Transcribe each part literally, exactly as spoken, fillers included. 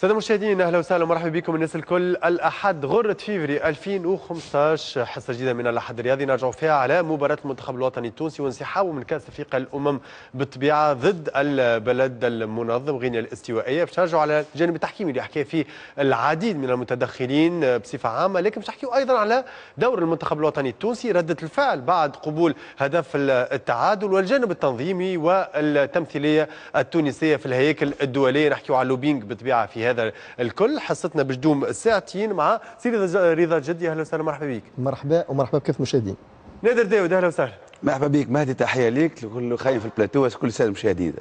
السادة المشاهدين، اهلا وسهلا ومرحبا بكم الناس الكل. الاحد غره فيفري ألفين وخمسطاش، حصة جديدة من الاحد الرياضي نرجع فيها على مباراة المنتخب الوطني التونسي وانسحابه من كاس افريقيا الامم بالطبيعة ضد البلد المنظم غينيا الاستوائيه. باش نرجعوا على الجانب التحكيمي اللي حكى فيه العديد من المتدخلين بصفة عامه، لكن باش نحكيو ايضا على دور المنتخب الوطني التونسي، رده الفعل بعد قبول هدف التعادل، والجانب التنظيمي والتمثيليه التونسية في الهياكل الدوليه. نحكيو على lobbying بالطبيعة في هذا الكل. حصتنا باش تدوم ساعتين مع سي رضا الجدي، اهلا وسهلا، مرحبا بك. مرحبا ومرحبا بكافة المشاهدين. نادر داود، اهلا وسهلا. مرحبا بك مهدي، تحية ليك لكل خاين في البلاتو وكل السادة المشاهدين.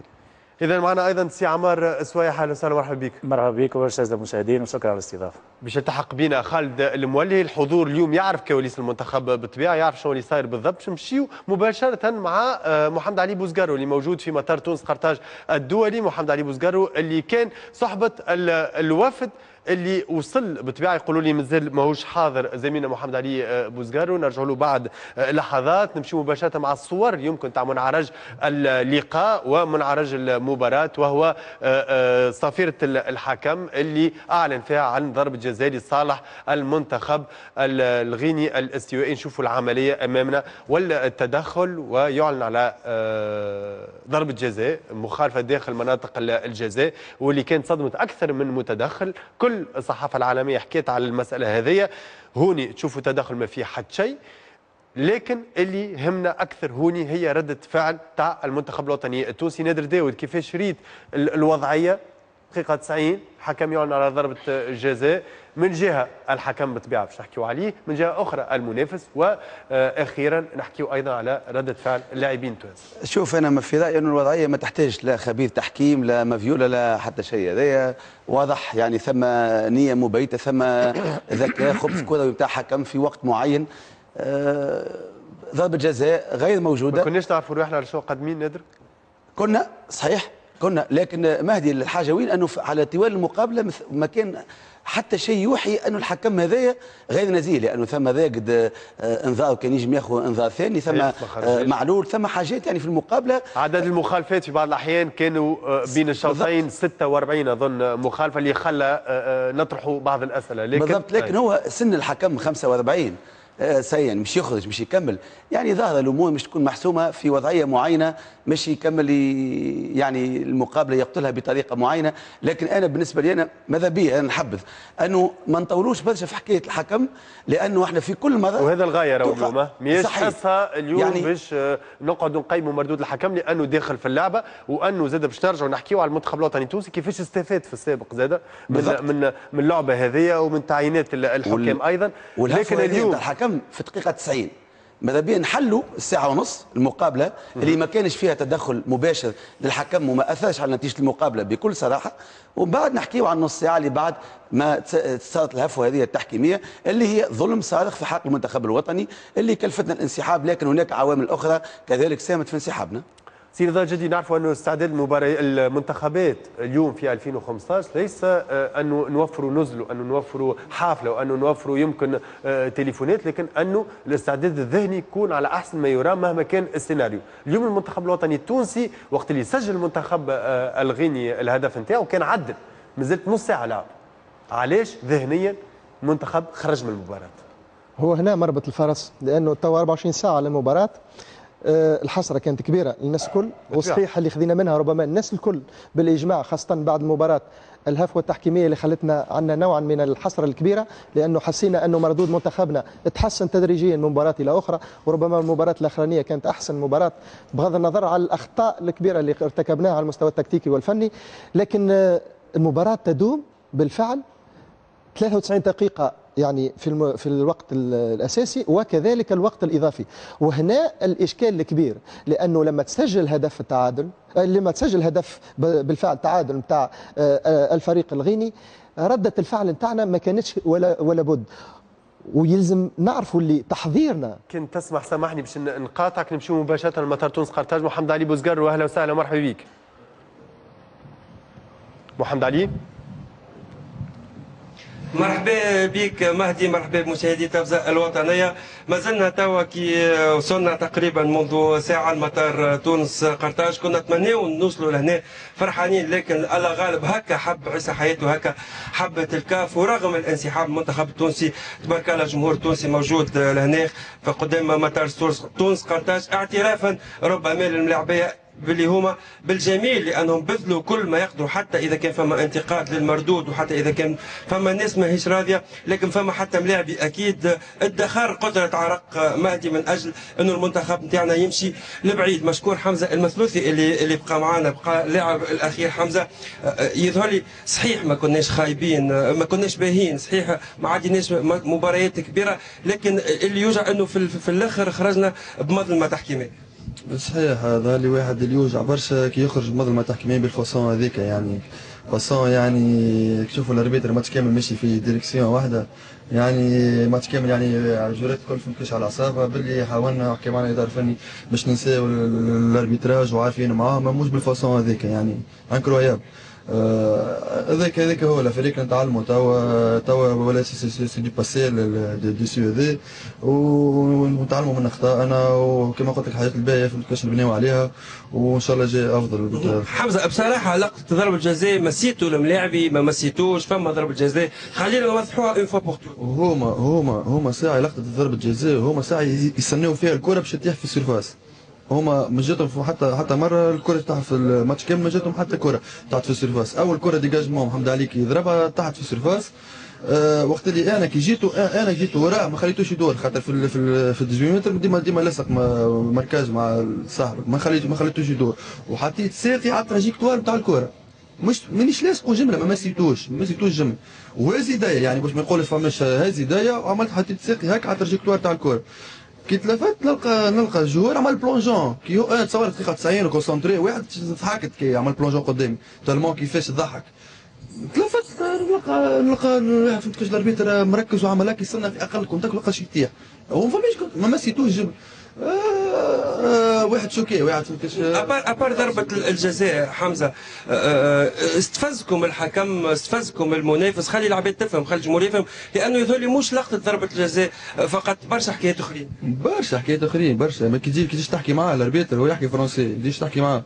اذا معنا ايضا سي عمار سويح، اهلا وسهلا، مرحبا بك. مرحبا بك والسادة المشاهدين وشكرا على الاستضافه. باش يلتحق بنا خالد المولي، الحضور اليوم يعرف كواليس المنتخب بالطبيعه، يعرف شنو اللي صاير بالضبط. باش نمشيو مباشرة مع آه، محمد علي بوزقارو اللي موجود في مطار تونس قرطاج الدولي. محمد علي بوزقارو اللي كان صحبه الوفد اللي وصل بالطبيعه، يقولوا لي مازال ماهوش حاضر زميلنا محمد علي آه، بوزقارو، نرجع له بعد آه، لحظات. نمشي مباشرة مع الصور يمكن تاع منعرج اللقاء ومنعرج المباراه، وهو آه، صافرة الحكم اللي اعلن فيها عن ضربه جزاء لصالح المنتخب الغيني الاستوائي. نشوفوا العملية امامنا والتدخل، ويعلن على ضربه جزاء مخالفة داخل مناطق الجزاء، واللي كانت صدمت اكثر من متدخل. كل الصحافة العالمية حكيت على المسالة هذه. هوني تشوفوا تدخل ما فيه حتى شيء، لكن اللي همنا اكثر هوني هي رده فعل تاع المنتخب الوطني التونسي. نادر داود، كيفاش ريت الوضعيه؟ دقيقة تسعين، حكم يعلن على ضربه جزاء، من جهة الحكم بالطبيعة باش نحكيو عليه، من جهة اخرى المنافس، واخيرا نحكيو ايضا على رده فعل اللاعبين التوانسة. شوف، انا في رايي انه الوضعية ما تحتاج لا خبير تحكيم لا مافيولا لا حتى شيء. هذايا واضح، يعني ثم نيه مبيته، ثم ذكاء، خبث كروي نتاع حكم في وقت معين. آه، ضربه جزاء غير موجوده. ما كناش نعرفوا روحنا على شو قادمين نادر؟ كنا، صحيح كنا، لكن مهدي الحاجة وين؟ انه على طوال المقابلة ما كان حتى شيء يوحي انه الحكم هذايا غير نزيه، لانه ثم راقد آه، انذار كان يجم ياخذ انذار ثاني، ثم آه، معلول، ثم حاجات يعني في المقابله. عدد المخالفات في بعض الاحيان كانوا آه، بين الشوطين ستة وأربعين اظن مخالفه، اللي خلى نطرحوا بعض الاسئله. لكن بالضبط، لكن هو سن الحكم خمسة وأربعين سيان، مش يخرج مش يكمل، يعني ظاهر الامور مش تكون محسومة في وضعية معينه، مش يكمل يعني المقابلة يقتلها بطريقة معينه. لكن انا بالنسبة لي انا ماذا بي انا نحبذ انه ما نطولوش برشا في حكاية الحكم، لانه احنا في كل مره. وهذا الغاية راهو اليوم ماهيش حصة اليوم يعني باش نقعدوا نقيموا مردود الحكم، لانه داخل في اللعبه، وانه زاد باش نرجعوا نحكيوا على المنتخب الوطني التونسي كيفاش استفاد في السابق زاد من من من اللعبة هذه ومن تعيينات الحكام وال... ايضا. لكن اليوم الحكم في دقيقة تسعين، ماذا بيا نحلوا الساعة ونص المقابلة اللي ما كانش فيها تدخل مباشر للحكم وما أثرش على نتيجة المقابلة بكل صراحة، ومن بعد نحكيو عن نص ساعة اللي بعد ما صارت الهفوة هذه التحكيمية اللي هي ظلم صارخ في حق المنتخب الوطني اللي كلفتنا الانسحاب، لكن هناك عوامل أخرى كذلك ساهمت في انسحابنا. سي رضا جدي، نعرفوا انه استعداد المباريات المنتخبات اليوم في ألفين وخمسطاش ليس آه، انه نوفروا نزل وانه نوفروا حافلة وانه نوفروا يمكن آه، تليفونات، لكن انه الاستعداد الذهني يكون على احسن ما يرام مهما كان السيناريو. اليوم المنتخب الوطني التونسي وقت اللي سجل المنتخب آه، الغيني الهدف نتاعو كان عدل، مازلت نص ساعة لعب. علاش ذهنيا المنتخب خرج من المباراة؟ هو هنا مربط الفرس، لانه تو أربعة وعشرين ساعة على المباراه. آه، الحسرة كانت كبيرة للناس الكل، وصحيح اللي خذينا منها ربما الناس الكل بالاجماع، خاصة بعد المباراه، الهفوه التحكيميه اللي خلتنا عندنا نوعا من الحسرة الكبيره، لانه حسينا انه مردود منتخبنا تحسن تدريجيا من مباراة الى اخرى، وربما المباراة الاخرانية كانت احسن مباراة بغض النظر على الاخطاء الكبيرة اللي ارتكبناها على المستوى التكتيكي والفني. لكن آه، المباراة تدوم بالفعل ثلاثة وتسعين دقيقة يعني في الم... في الوقت الاساسي وكذلك الوقت الاضافي، وهنا الاشكال الكبير، لانه لما تسجل هدف التعادل آه، لما تسجل هدف بالفعل تعادل نتاع آه، آه، الفريق الغيني، ردة الفعل نتاعنا ما كانتش ولا ولا بد، ويلزم نعرفوا اللي تحضيرنا. كنت تسمح، سامحني باش نقاطعك، نمشيو مباشرة لمطار تونس قرطاج. محمد علي بوزقر، واهلا وسهلا، مرحبا بك محمد علي. مرحبا بك مهدي، مرحبا بمشاهدي التلفزة الوطنية. ما زلنا توا كي وصلنا تقريبا منذ ساعة لمطار تونس قرطاج، كنا نتمناو نوصلوا لهنا فرحانين، لكن الله غالب هكا حب عيسى حياته، هكا حبت الكاف. ورغم الانسحاب المنتخب التونسي تبارك الله الجمهور التونسي موجود لهنا فقدام مطار تونس قرطاج، اعترافا ربما للملاعبيه باللي هما بالجميل، لانهم بذلوا كل ما يقدروا، حتى اذا كان فما انتقاد للمردود وحتى اذا كان فما ناس ماهيش راضية، لكن فما حتى ملاعبي اكيد ادخر قدره عرق مهدي من اجل انه المنتخب نتاعنا يمشي لبعيد. مشكور حمزة المثلوثي اللي اللي بقى معنا، بقى اللاعب الاخير حمزة. يظهر لي صحيح ما كناش خايبين، ما كناش باهين، صحيح ما عديناش مباريات كبيرة، لكن اللي يوجع انه في, في الاخر خرجنا بمظلمه تحكيميه. صحيح، هذا اللي واحد اللي يوجع برشا كي يخرج بمظلمه تحكيميه بال façon هذيك، يعني façon يعني تشوفوا ال arbitre ماتش كامل ماشي في direction واحدة، يعني ماتش كامل يعني الجورات الكل فهمتش على اعصابها، باللي حاولنا وحكي معنا الادارة الفني باش ننساو ال arbitrage وعارفين معاه، ما مش بال façon هذيك، يعني incroyable. هذاك هذاك هو الفريق نتعلموا توا توا ولا c'est du passé déçu هذا، ونتعلموا من اخطائنا، وكما قلت لك الحاجات الباهيه فهمت نبنيو عليها، وان شاء الله جاي افضل. حمزة بصراحة لقطة ضربه جزاء مسيتو الملاعبي ما مسيتوش، فما ضربه جزاء خلينا نوضحوها une fois pour toutes. هما هما هما ساعة لقطة ضربه جزاء هما ساعة يستناو فيها الكره باش تطيح في ال surface، هما ما جاتهم حتى حتى مرة الكره تاع في الماتش كامل، ما جاتهم حتى كره تاعت في ال surface. اول كره dégagement محمد علي كي يضربها تحت في ال surface. أه وقت اللي انا كي جيتو انا جيت وراه ما خليتوش يدور، خاطر في ال في ال في ثمنطاش متر ديما ديما لاصق marquage مع صاحبك، ما خليت ما خليتوش يدور، وحطيت ساقي على ال trajectoire نتاع الكره، مش مانيش لاصقو جملة، ما مسيتوش ما مسيتوش جملة، وهز يديا يعني باش ما نقولش فماش هز يديا، وعملت حطيت ساقي هكا على ال trajectoire تاع الكره. كي تلفت نلقى نلقى ال joueur عمل plongeon، كي هو انا تصور دقيقة تسعين و concentré، واحد ضحكت كي عمل plongeon قدامي tellement كيفاش ضحك. تلفت نلقى نلقى واحد فهمت كيفاش ال arbitre مركز وعمل هكا يستنى في اقل contact ولقى شي يطيح، هو ما فماش ما مسيتوش جملة. آه واحد choqué واحد فهمت à part à part ضربة الجزاء حمزة، آه استفزكم الحكم، استفزكم المنافس، خلي العباد تفهم، خلي الجمهور يفهم، لانه يظهر لي مش لقطة ضربة الجزاء فقط، برشا حكايات اخرين. برشا حكايات اخرين برشا، ما كي تجي كي تجي تحكي معاه ال arbitre هو يحكي français، تجيش تحكي معاه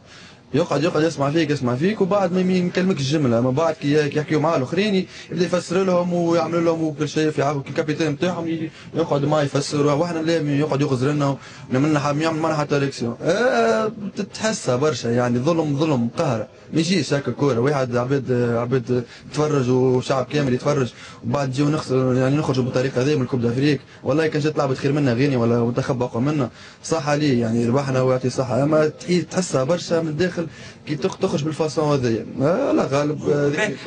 يقعد يقعد يسمع فيك يسمع فيك، وبعد ما يكلمك الجملة، ما بعد كي يحكيوا معاه الاخرين يبدا يفسر لهم ويعمل لهم وكل شيء في ال capitaine نتاعهم يقعد معاه يفسر، واحنا لا يقعد يغزر لنا ونعمل يعمل معنا حتى réaction. أه تحسها برشا يعني ظلم ظلم قهره، ما يجيش هكا كورة واحد عباد عباد تفرج وشعب كامل يتفرج، وبعد نجيو نخسر يعني نخرجوا بالطريقة هذه من ال Coupe d'Afrique. والله كان جات لعبت خير منا غيني ولا منتخب اقوى منا صح عليه يعني ربحنا ويعطي صحة، اما تحسها برشا من الداخل كي تخرج بال façon هذيا. لا غالب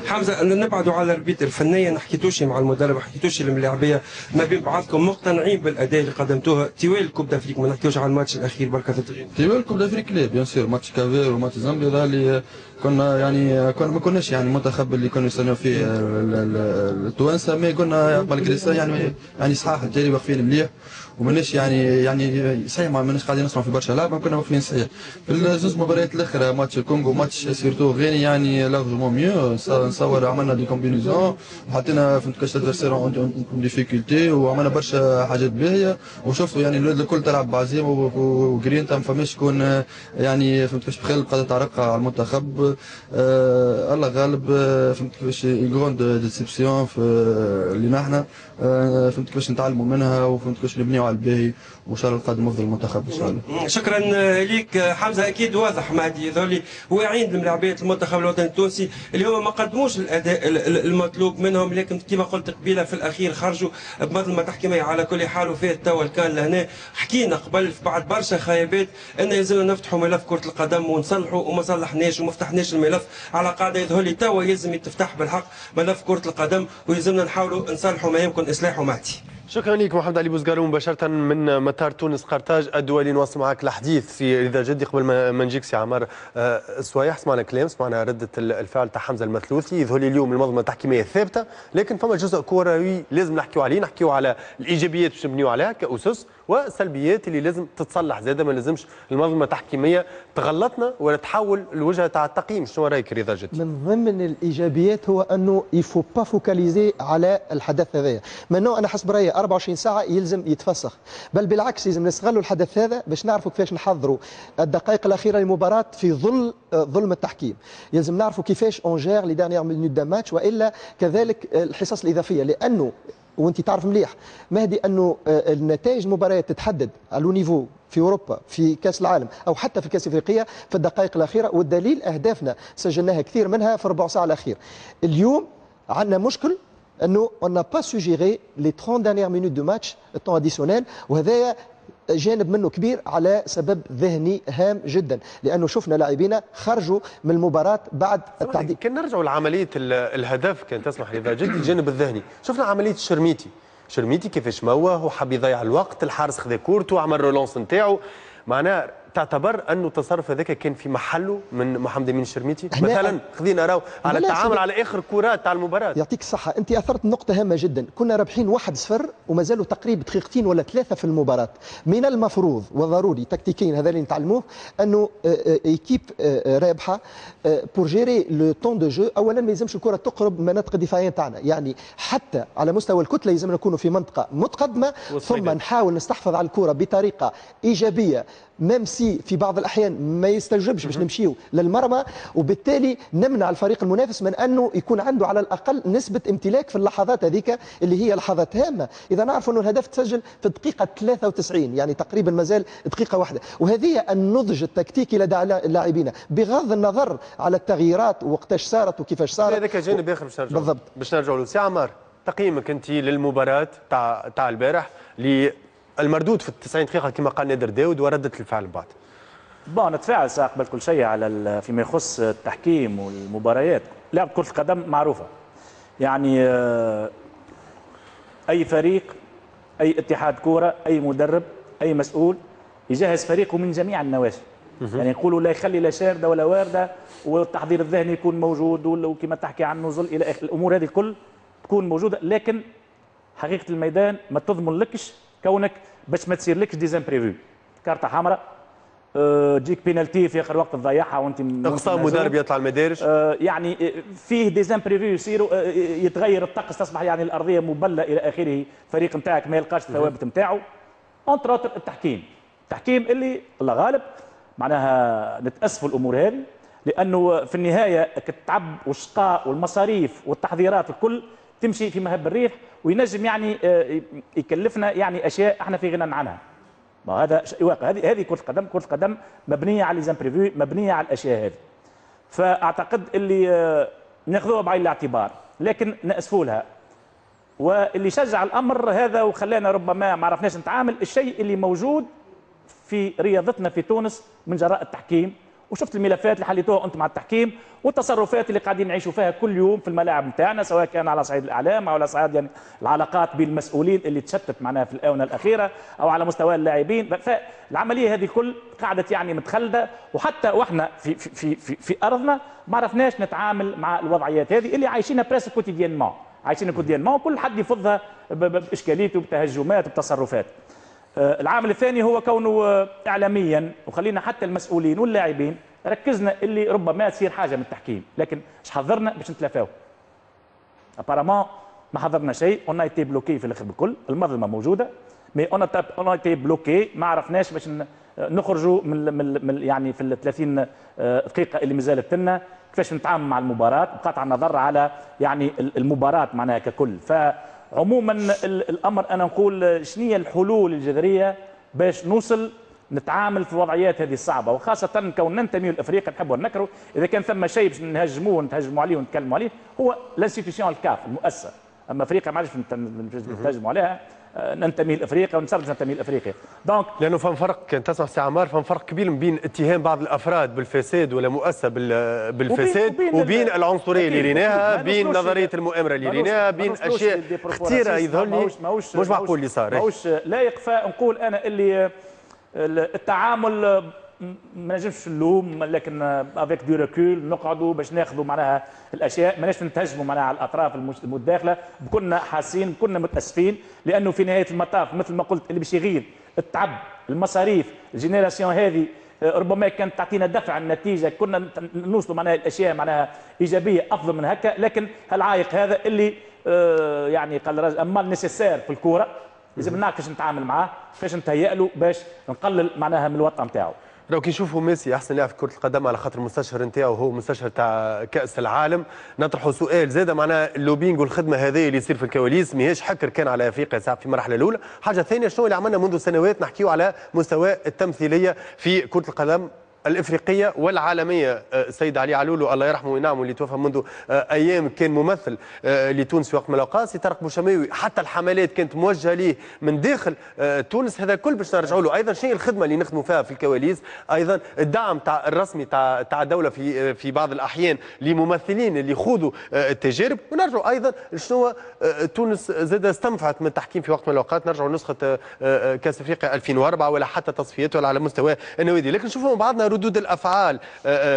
حمزة نبعدوا على ال arbitre فنيا، حكيتوش مع المدرب، حكيتوش الملاعبيه ما بين بعضكم، مقتنعين بالاداء اللي قدمتوه طوال ال Coupe d'Afrique؟ ما نحكيوش على الماتش الاخير بركة طوال ال Coupe d'Afrique لا bien sûr match Cap-Vert و match زامبيا هذا اللي كنا يعني كنا ما كناش يعني المنتخب اللي كانوا يستناو فيه التوانسة، mais كنا malgré ça يعني يعني صحاح الجري واقفين مليح، وماناش يعني يعني صحيح ما ماناش قاعدين نصنعوا في برشا لعب، كنا واقفين صحيح في الزوز مباريات الاخرى ماتش الكونغو match surtout غيني يعني largement mieux، نصور عملنا des combinaisons وحطينا فهمت كاش l'adversaire en difficulté وعملنا برشا حاجات باهيه، وشفتوا يعني الولاد الكل تلعب بعزيمة وجرينتا، ما فماش شكون يعني فهمت كاش بخيل قاعدة تعرق على المنتخب. آه الله غالب فهمت كيفاش grande déception اللي نحن آه فهمت كيفاش نتعلموا منها وفهمت كيفاش نبنيو على الباهي، وان شاء الله القادم افضل المنتخب ان شاء الله. شكرا لك حمزة، اكيد واضح مهدي ذولي واعيين لملاعبيه المنتخب الوطني التونسي اللي هما ما قدموش الاداء المطلوب منهم، لكن كما قلت قبيلة في الاخير خرجوا بمظلمه تحكيميه. على كل حال وفات توا الكان لهنا، حكينا قبل بعد برشا خيابات ان يلزمنا نفتحوا ملف كره القدم ونصلحوا، وما صلحناش وما فتحناش الملف على قاعدة. يظهر لي توا يلزم يتفتح بالحق ملف كره القدم، ويلزمنا نحاولوا نصلحوا ما يمكن اصلاحه. مهدي شكرا لك محمد علي بوزقارو مباشرة من مطار تونس قرطاج الدولي. نواصل معك الحديث في رضا جدي قبل ما نجيك سي عمار السويح. سمعنا كلام، سمعنا ردة الفعل تاع حمزة المثلوثي. يظهر لي اليوم المنظمة التحكيمية ثابتة، لكن فما جزء كروي لازم نحكيو عليه، نحكيو على الإيجابيات باش نبنيو عليها كأسس، والسلبيات اللي لازم تتصلح زاده. ما لازمش المنظمة التحكيمية تغلطنا ولا تحول الوجهة تاع التقييم. شنو رايك رضا جدي؟ من ضمن الايجابيات هو انه il faut pas focaliser على الحدث هذايا. منو انا حسب رايي أربعة وعشرين ساعة يلزم يتفسخ، بل بالعكس لازم نستغلوا الحدث هذا باش نعرفوا كيفاش نحضروا الدقائق الاخيرة للمباراة في ظل ظلم التحكيم. يلزم نعرفوا كيفاش on gère les dernières minutes d'un match، والا كذلك الحصص الاضافية، لانه وانت تعرف مليح مهدي انه النتائج المباريات تتحدد على niveau في اوروبا في كاس العالم او حتى في كاس افريقيا في الدقائق الاخيرة، والدليل اهدافنا سجلناها كثير منها في ربع ساعة الاخير. اليوم عندنا مشكل انه on n'a pas su gérer les trente dernières minutes de match، ال temps additionnel، وهذايا جانب منه كبير على سبب ذهني هام جدا، لانه شفنا لاعبينا خرجوا من المباراة بعد التعديل. كان نرجعوا لعملية الهدف، كان تسمح لي جدي، الجانب الذهني، شفنا عملية الشرميتي، شرميتي كيفاش موه وحب يضيع الوقت، الحارس خذا كورته وعمل relance نتاعو، معناها تعتبر انه التصرف هذاك كان في محله من محمد امين الشرميتي مثلا؟ خذينا راهو على التعامل على اخر كرات تاع المباراة. يعطيك الصحة، انت اثرت نقطة هامة جدا. كنا رابحين واحد صفر وما زالوا تقريبا دقيقتين ولا ثلاثة في المباراة. من المفروض وضروري تكتيكيا، هذا اللي نتعلموه، انه équipe رابحه pour gérer le temps de jeu، اولا ما يلزمش الكره تقرب من المناطق الدفاعية تاعنا، يعني حتى على مستوى الكتلة يلزم نكونوا في منطقة متقدمة، ثم نحاول نستحفظ على الكره بطريقة ايجابية، même si في بعض الاحيان ما يستوجبش باش نمشيو للمرمى، وبالتالي نمنع الفريق المنافس من انه يكون عنده على الاقل نسبه امتلاك في اللحظات هذيك اللي هي لحظات هامة. اذا نعرف انه الهدف تسجل في الدقيقة ثلاثة وتسعين، يعني تقريبا مازال دقيقة واحدة، وهذه النضج التكتيكي لدى اللاعبين بغض النظر على التغييرات وقتاش صارت وكيفاش صارت. هذاك جانب اخر باش نرجعوا بالضبط باش نرجعوا له. سي عمار، تقييمك انت للمباراة تاع تاع البارح، المردود في التسعين دقيقة كما قال نادر داود، وردة الفعل بعد؟ bon، نتفاعل ساعة قبل كل شيء على فيما يخص التحكيم والمباريات. لعبة كرة القدم معروفة، يعني أي فريق، أي اتحاد كورة، أي مدرب، أي مسؤول يجهز فريقه من جميع النواحي، يعني يقولوا لا يخلي لا شارده ولا وارده، والتحضير الذهني يكون موجود، وكما تحكي عن النزل الى اخره، الامور هذه الكل تكون موجودة، لكن حقيقة الميدان ما تضمن لكش كونك باش ما تصير لكش des imprévus، كارته حمراء، أه تجيك بينالتي في اخر وقت تضيعها وانت اقصاء مدرب يطلع المدارج، أه يعني فيه des imprévus يصيروا، أه يتغير الطقس، تصبح يعني الارضية مبله الى اخره، الفريق نتاعك ما يلقاش الثوابت نتاعو. entre autres التحكيم، التحكيم اللي الله غالب معناها نتاسفوا الامور هذه، لانه في النهاية التعب والشقاء والمصاريف والتحضيرات الكل تمشي في مهب الريح، وينجم يعني يكلفنا يعني اشياء احنا في غنى عنها. ما هذا شيء واقع، هذه هذه كره القدم، كره القدم مبنية على les imprévus، مبنية على الاشياء هذه. فاعتقد اللي ناخذوها بعين الاعتبار، لكن ناسفوا لها. واللي شجع الامر هذا وخلانا ربما ما عرفناش نتعامل، الشيء اللي موجود في رياضتنا في تونس من جراء التحكيم، وشفت الملفات اللي حليتوها انتم مع التحكيم والتصرفات اللي قاعدين نعيشوا فيها كل يوم في الملاعب نتاعنا، سواء كان على صعيد الاعلام او على صعيد يعني العلاقات بين المسؤولين اللي تشتت معناها في الاونة الاخيرة، او على مستوى اللاعبين. فالعملية هذه الكل قعدت يعني متخلده، وحتى واحنا في في في في ارضنا ما عرفناش نتعامل مع الوضعيات هذه اللي عايشينها presque quotidiennement، عايشينها quotidiennement، كل حد يفضها باشكاليته بتهجمات بتصرفات. العامل الثاني هو كونه اعلاميا، وخلينا حتى المسؤولين واللاعبين ركزنا اللي ربما تصير حاجة من التحكيم، لكن اش حضرنا باش نتلافاو؟ apparemment ما حضرنا شيء، on a été bloqué في الاخر بالكل، المظلمة موجودة، mais on a été bloqué، ما عرفناش باش نخرجوا من, من يعني في ال ثلاثين دقيقة اللي مازالت لنا كيفاش نتعامل مع المباراة، بقطع النظر على يعني المباراة معناها ككل. فعموما الامر انا نقول شنو هي الحلول الجذرية باش نوصل نتعامل في الوضعيات هذه الصعبة، وخاصة كون ننتمي لافريقيا نحبوا نكرهوا، اذا كان ثم شيء باش نهجموه ونتهجموا عليه ونتكلموا عليه هو l'institution الكاف، المؤسسة. اما افريقيا ما عادش نتهجموا عليها، ننتمي لافريقيا ونصرف ننتمي لافريقيا. donc لانه فما فرق، كان تسمع سي عمار، فما فرق كبير بين اتهام بعض الافراد بالفساد ولا مؤسسة بالفساد وبين, وبين, وبين العنصرية اللي ريناها، بين نظرية المؤامرة اللي ريناها، بين اشياء كثيرة يظهر لي مش معقول اللي صار، ماهوش لايق. فنقول انا اللي التعامل ما نجمش نلوم، لكن avec du recul نقعدوا باش ناخذوا معناها الاشياء، ماناش نتهجموا معناها على الاطراف المتداخله، كنا حاسين كنا متاسفين، لانه في نهاية المطاف مثل ما قلت اللي باش يغير التعب، المصاريف، ال génération هذه ربما كانت تعطينا دفع النتيجة، كنا نوصلوا معناها الاشياء معناها ايجابية افضل من هكا، لكن هالعائق هذا اللي يعني قال الراجل un mal nécessaire في الكورة، لازم نعرف كيفاش نتعامل معاه، كيفاش نتهيأ له باش نقلل معناها من الوطأة نتاعو. لو كي نشوفوا ميسي احسن لاعب في كره القدم على خاطر المستشهر نتاعو هو مستشهر تاع كاس العالم، نطرحوا سؤال زاد معناها ال lobbying والخدمة هذه اللي يصير في الكواليس ماهيش حكر كان على افريقيا ساعة في المرحلة الاولى. حاجة ثانية، شنو اللي عملنا منذ سنوات نحكيو على مستوى التمثيلية في كره القدم الافريقية والعالمية. السيد علي علولو الله يرحمه وينعمه اللي توفى منذ ايام كان ممثل لتونس في وقت من الاوقات، سي طارق بوشماوي حتى الحملات كانت موجهة ليه من داخل تونس. هذا كل باش نرجعوا له ايضا شنو الخدمة اللي نخدموا فيها في الكواليس، ايضا الدعم تاع الرسمي تاع تاع الدولة في في بعض الاحيان لممثلين اللي يخوضوا التجارب، ونرجعوا ايضا شنو تونس زاد استنفعت من التحكيم في وقت من الاوقات. نرجعوا نسخه كاس افريقيا ألفين وأربعة ولا حتى تصفيات ولا على مستوى النوادي. لكن نشوفوا مع بعضنا ردود الافعال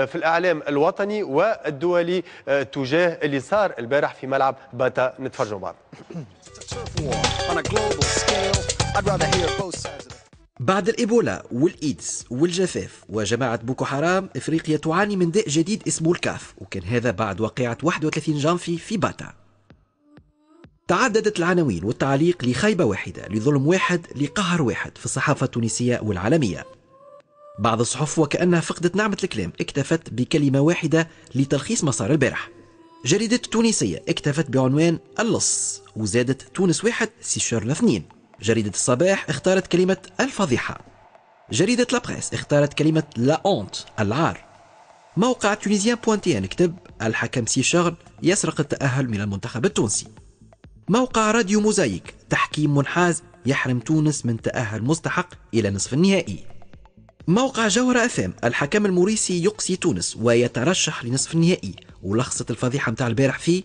في الاعلام الوطني والدولي تجاه اللي صار البارح في ملعب باتا. نتفرجوا بعض. بعد الإيبولا والإيدز والجفاف وجماعة بوكو حرام، إفريقيا تعاني من داء جديد اسمه الكاف، وكان هذا بعد واقعة واحد وثلاثين جانفي في باتا. تعددت العناوين والتعليق لخيبة واحدة، لظلم واحد، لقهر واحد في الصحافة التونسية والعالمية. بعض الصحف وكأنها فقدت نعمة الكلام اكتفت بكلمة واحدة لتلخيص مسار البارح. جريدة التونسية اكتفت بعنوان اللص، وزادت تونس واحد سيشيرن اثنين. جريدة الصباح اختارت كلمة الفضيحة. جريدة La Presse اختارت كلمة la honte، العار. موقع Tunisien point tn كتب الحكم سيشيرن يسرق التأهل من المنتخب التونسي. موقع راديو موزايك تحكيم منحاز يحرم تونس من تأهل مستحق إلى نصف النهائي. موقع جوهرة اف ام الحكم الموريسي يقصي تونس ويترشح لنصف النهائي. ولخصت الفضيحة متاع البارح في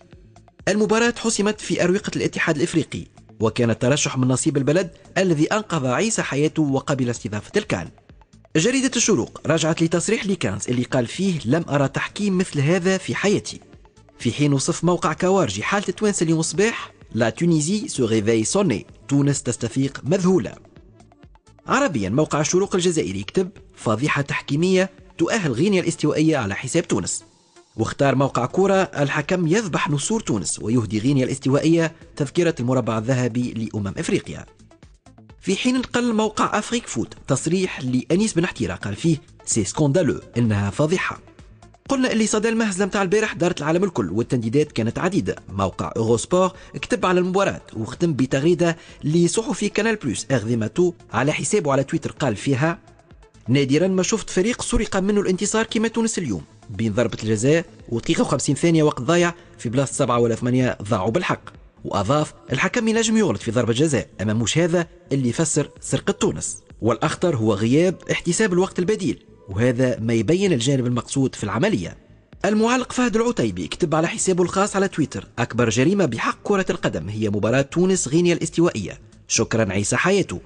المباراة حسمت في أروقة الاتحاد الإفريقي، وكان الترشح من نصيب البلد الذي أنقذ عيسى حياته وقبل استضافة الكان. جريدة الشروق رجعت لتصريح ليكانز اللي قال فيه لم أرى تحكيم مثل هذا في حياتي. في حين وصف موقع كوارجي حالة التوانسة اليوم الصباح la Tunisie se réveille sonnée، تونس تستفيق مذهولة. عربيا موقع الشروق الجزائري يكتب فضيحة تحكيمية تؤهل غينيا الاستوائية على حساب تونس. واختار موقع كورة الحكم يذبح نسور تونس ويهدي غينيا الاستوائية تذكرة المربع الذهبي لأمم إفريقيا. في حين نقل موقع Afrique Foot تصريح لأنيس بن حتيرة قال فيه c'est scandaleux، إنها فضيحة. قلنا اللي صدى المهزلة متاع البارح دارت العالم الكل والتنديدات كانت عديدة. موقع Eurosport كتب على المباراة وختم بتغريدة لصحفي Canal Plus Hervé Mathoux على حسابه على تويتر قال فيها نادرا ما شفت فريق سرق منه الانتصار كما تونس اليوم، بين ضربة الجزاء ودقيقة وخمسين ثانية وقت ضايع في بلاصة سبعة ولا ثمانية ضاعوا بالحق. وأضاف الحكم ينجم يغلط في ضربة جزاء أما مش هذا اللي يفسر سرقة تونس، والأخطر هو غياب احتساب الوقت البديل، وهذا ما يبين الجانب المقصود في العملية. المعلق فهد العتيبي كتب على حسابه الخاص على تويتر أكبر جريمة بحق كرة القدم هي مباراة تونس غينيا الاستوائية، شكرا عيسى حياته.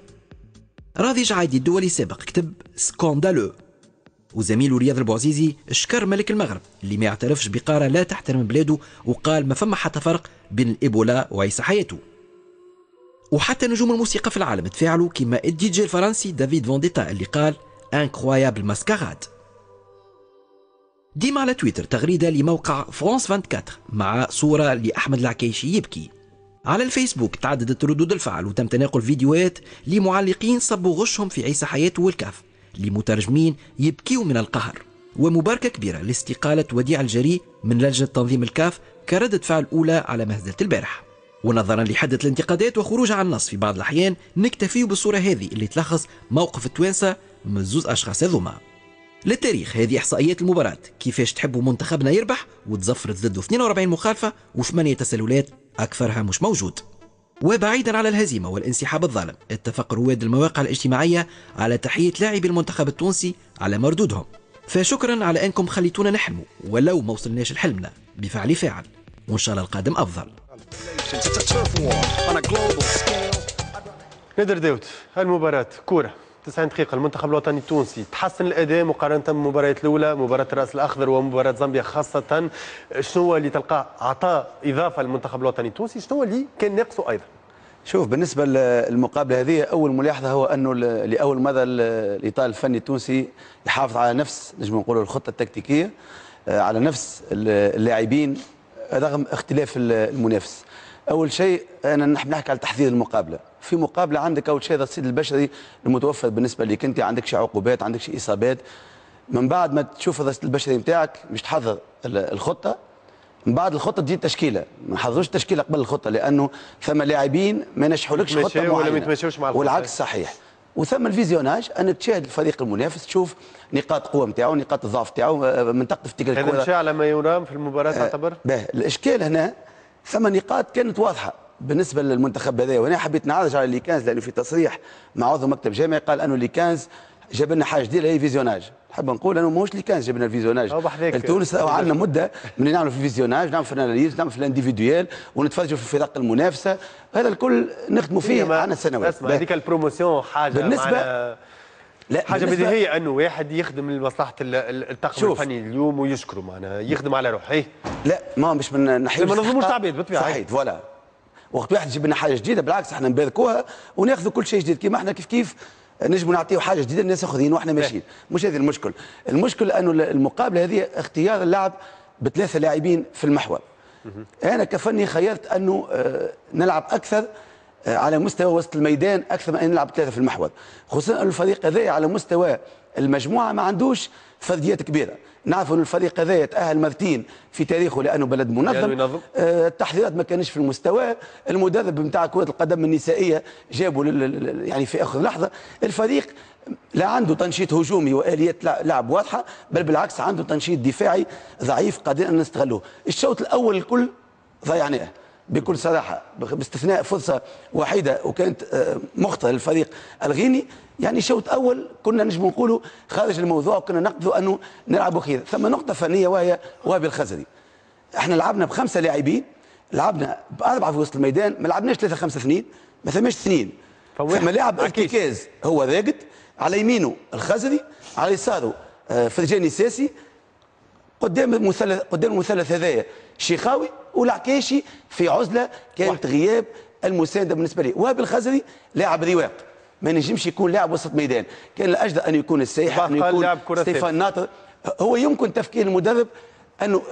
راضي جعايدي الدولي السابق كتب scandaleux. وزميله رياض البوعزيزي شكر ملك المغرب اللي ما يعترفش بقارة لا تحترم بلاده، وقال ما فما حتى فرق بين الإيبولا وعيسى حياته. وحتى نجوم الموسيقى في العالم تفاعلوا كما الدي جي الفرنسي دافيد فونديتا اللي قال incroyable mascarade. ديما على تويتر تغريدة لموقع فرانس أربعة وعشرين مع صورة لأحمد العكيشي يبكي. على الفيسبوك تعددت ردود الفعل وتم تناقل فيديوهات لمعلقين صبوا غشهم في عيسى حياته والكاف، لمترجمين يبكيوا من القهر، ومباركة كبيرة لاستقالة وديع الجري من لجنة تنظيم الكاف كردة فعل أولى على مهزلة البارح. ونظرا لحدة الانتقادات وخروجها عن النص في بعض الأحيان نكتفي بالصورة هذه اللي تلخص موقف التوانسة من زوز أشخاص هذوما. للتاريخ هذه إحصائيات المباراة، كيفاش تحبوا منتخبنا يربح وتزفرت ضده اثنين وأربعين مخالفة وثمانية تسللات أكثرها مش موجود. وبعيدا على الهزيمة والانسحاب الظالم، اتفق رواد المواقع الاجتماعية على تحية لاعبي المنتخب التونسي على مردودهم، فشكرا على أنكم خليتونا نحلموا ولو ما وصلناش لحلمنا بفعل فاعل، وإن شاء الله القادم أفضل. نادر داود، المباراة كورة تسعين دقيقة، المنتخب الوطني التونسي تحسن الأداء مقارنة بالمباريات الأولى، مباراة الرأس الأخضر ومباراة زامبيا خاصة. شنو اللي تلقاه عطاء إضافة للمنتخب الوطني التونسي، شنو اللي كان ناقصه أيضا؟ شوف، بالنسبة للمقابلة هذه أول ملاحظة هو أنه لأول مرة الإطار الفني التونسي يحافظ على نفس نجم نقولوا الخطة التكتيكية، على نفس اللاعبين رغم اختلاف المنافس. أول شيء أنا نحب نحكي على تحضير المقابلة. في مقابلة عندك أول شيء الرصيد البشري المتوفر بالنسبة لك أنت، عندك شي عقوبات، عندك شي إصابات. من بعد ما تشوف الرصيد البشري نتاعك مش تحضر الخطة، من بعد الخطة تجي التشكيلة. ما نحضروش التشكيلة قبل الخطة لأنه ثم لاعبين ما نجحولكش خطة معينة ولا ما يتماشاوش مع الخطة، والعكس صحيح. وثم ال visionnage، أنك تشاهد الفريق المنافس، تشوف نقاط القوة نتاعو، نقاط الضعف نتاعو، منطقة افتكاك الكرة. هذا مشى على ما يرام في المباراة تعتبر؟ باهي، الإشكال هنا ثم نقاط كانت واضحة بالنسبة للمنتخب هذا، وأنا حبيت نعرج على les quinze لأنه في تصريح مع عضو مكتب جامعي قال أنه les quinze جاب لنا حاجة جديدة هي visionnage. نحب نقول أنه ماهوش les quinze جاب لنا ال visionnage لتونس، عندنا مدة من نعملوا في ال visionnage، نعملوا في ال analyse، نعملوا في ال individuel، ونتفرجوا في الفرق المنافسة، هذا الكل نخدموا فيه عندنا سنوات. اسمع، هذيك ال promotion حاجة بالنسبة لا حاجة بديهية انه واحد يخدم لمصلحة الطاقم الفني اليوم ويشكره، معناها يخدم على روحه. إيه؟ لا ما مش من ناحية ما نظلموش العباد بالطبيعة. صحيح، voilà. وقت واحد يجيب لنا حاجة جديدة بالعكس احنا نباركوها وناخذوا كل شيء جديد، كيما احنا كيف كيف نجموا نعطيو حاجة جديدة للناس اخرين واحنا ماشيين. مش هذا المشكل، المشكل انه المقابلة هذه اختيار اللعب بثلاثة لاعبين في المحور. انا كفني خيرت انه نلعب اكثر على مستوى وسط الميدان اكثر من ان نلعب ثلاثة في المحور، خصوصا ان الفريق هذا على مستوى المجموعة ما عندوش فرديات كبيرة. نعرف ان الفريق هذا يتاهل مرتين في تاريخه لانه بلد منظم، آه التحضيرات ما كانش في المستوى، المدرب نتاع كره القدم النسائية جابوا يعني في اخر لحظة. الفريق لا عنده تنشيط هجومي واليات لعب واضحة، بل بالعكس عنده تنشيط دفاعي ضعيف قادرين ان نستغلوه. الشوط الاول الكل ضيعناه بكل صراحة، باستثناء فرصة وحيده وكانت مخطئه للفريق الغيني. يعني شوط اول كنا نجم نقولوا خارج الموضوع، وكنا نقدروا انه نلعبوا خير. ثم نقطة فنية وهي وهبي الخزري. احنا لعبنا بخمسة لاعبين، لعبنا باربعة في وسط الميدان، ما لعبناش ثلاثة خمسة اثنين، ما ثماش اثنين. ثم لاعب ارتكاز هو راقد، على يمينه الخزري، على يساره فرجاني ساسي، قدام المثلث قدام المثلث هذايا شيخاوي والعكاشي في عزله كانت غياب المساندة بالنسبة لي. وهبي الخزري لاعب رواق، ما نجمش يكون لاعب وسط ميدان، كان الاجدر ان يكون السيح، ان يكون ستيفان ناطر. هو يمكن تفكير المدرب انه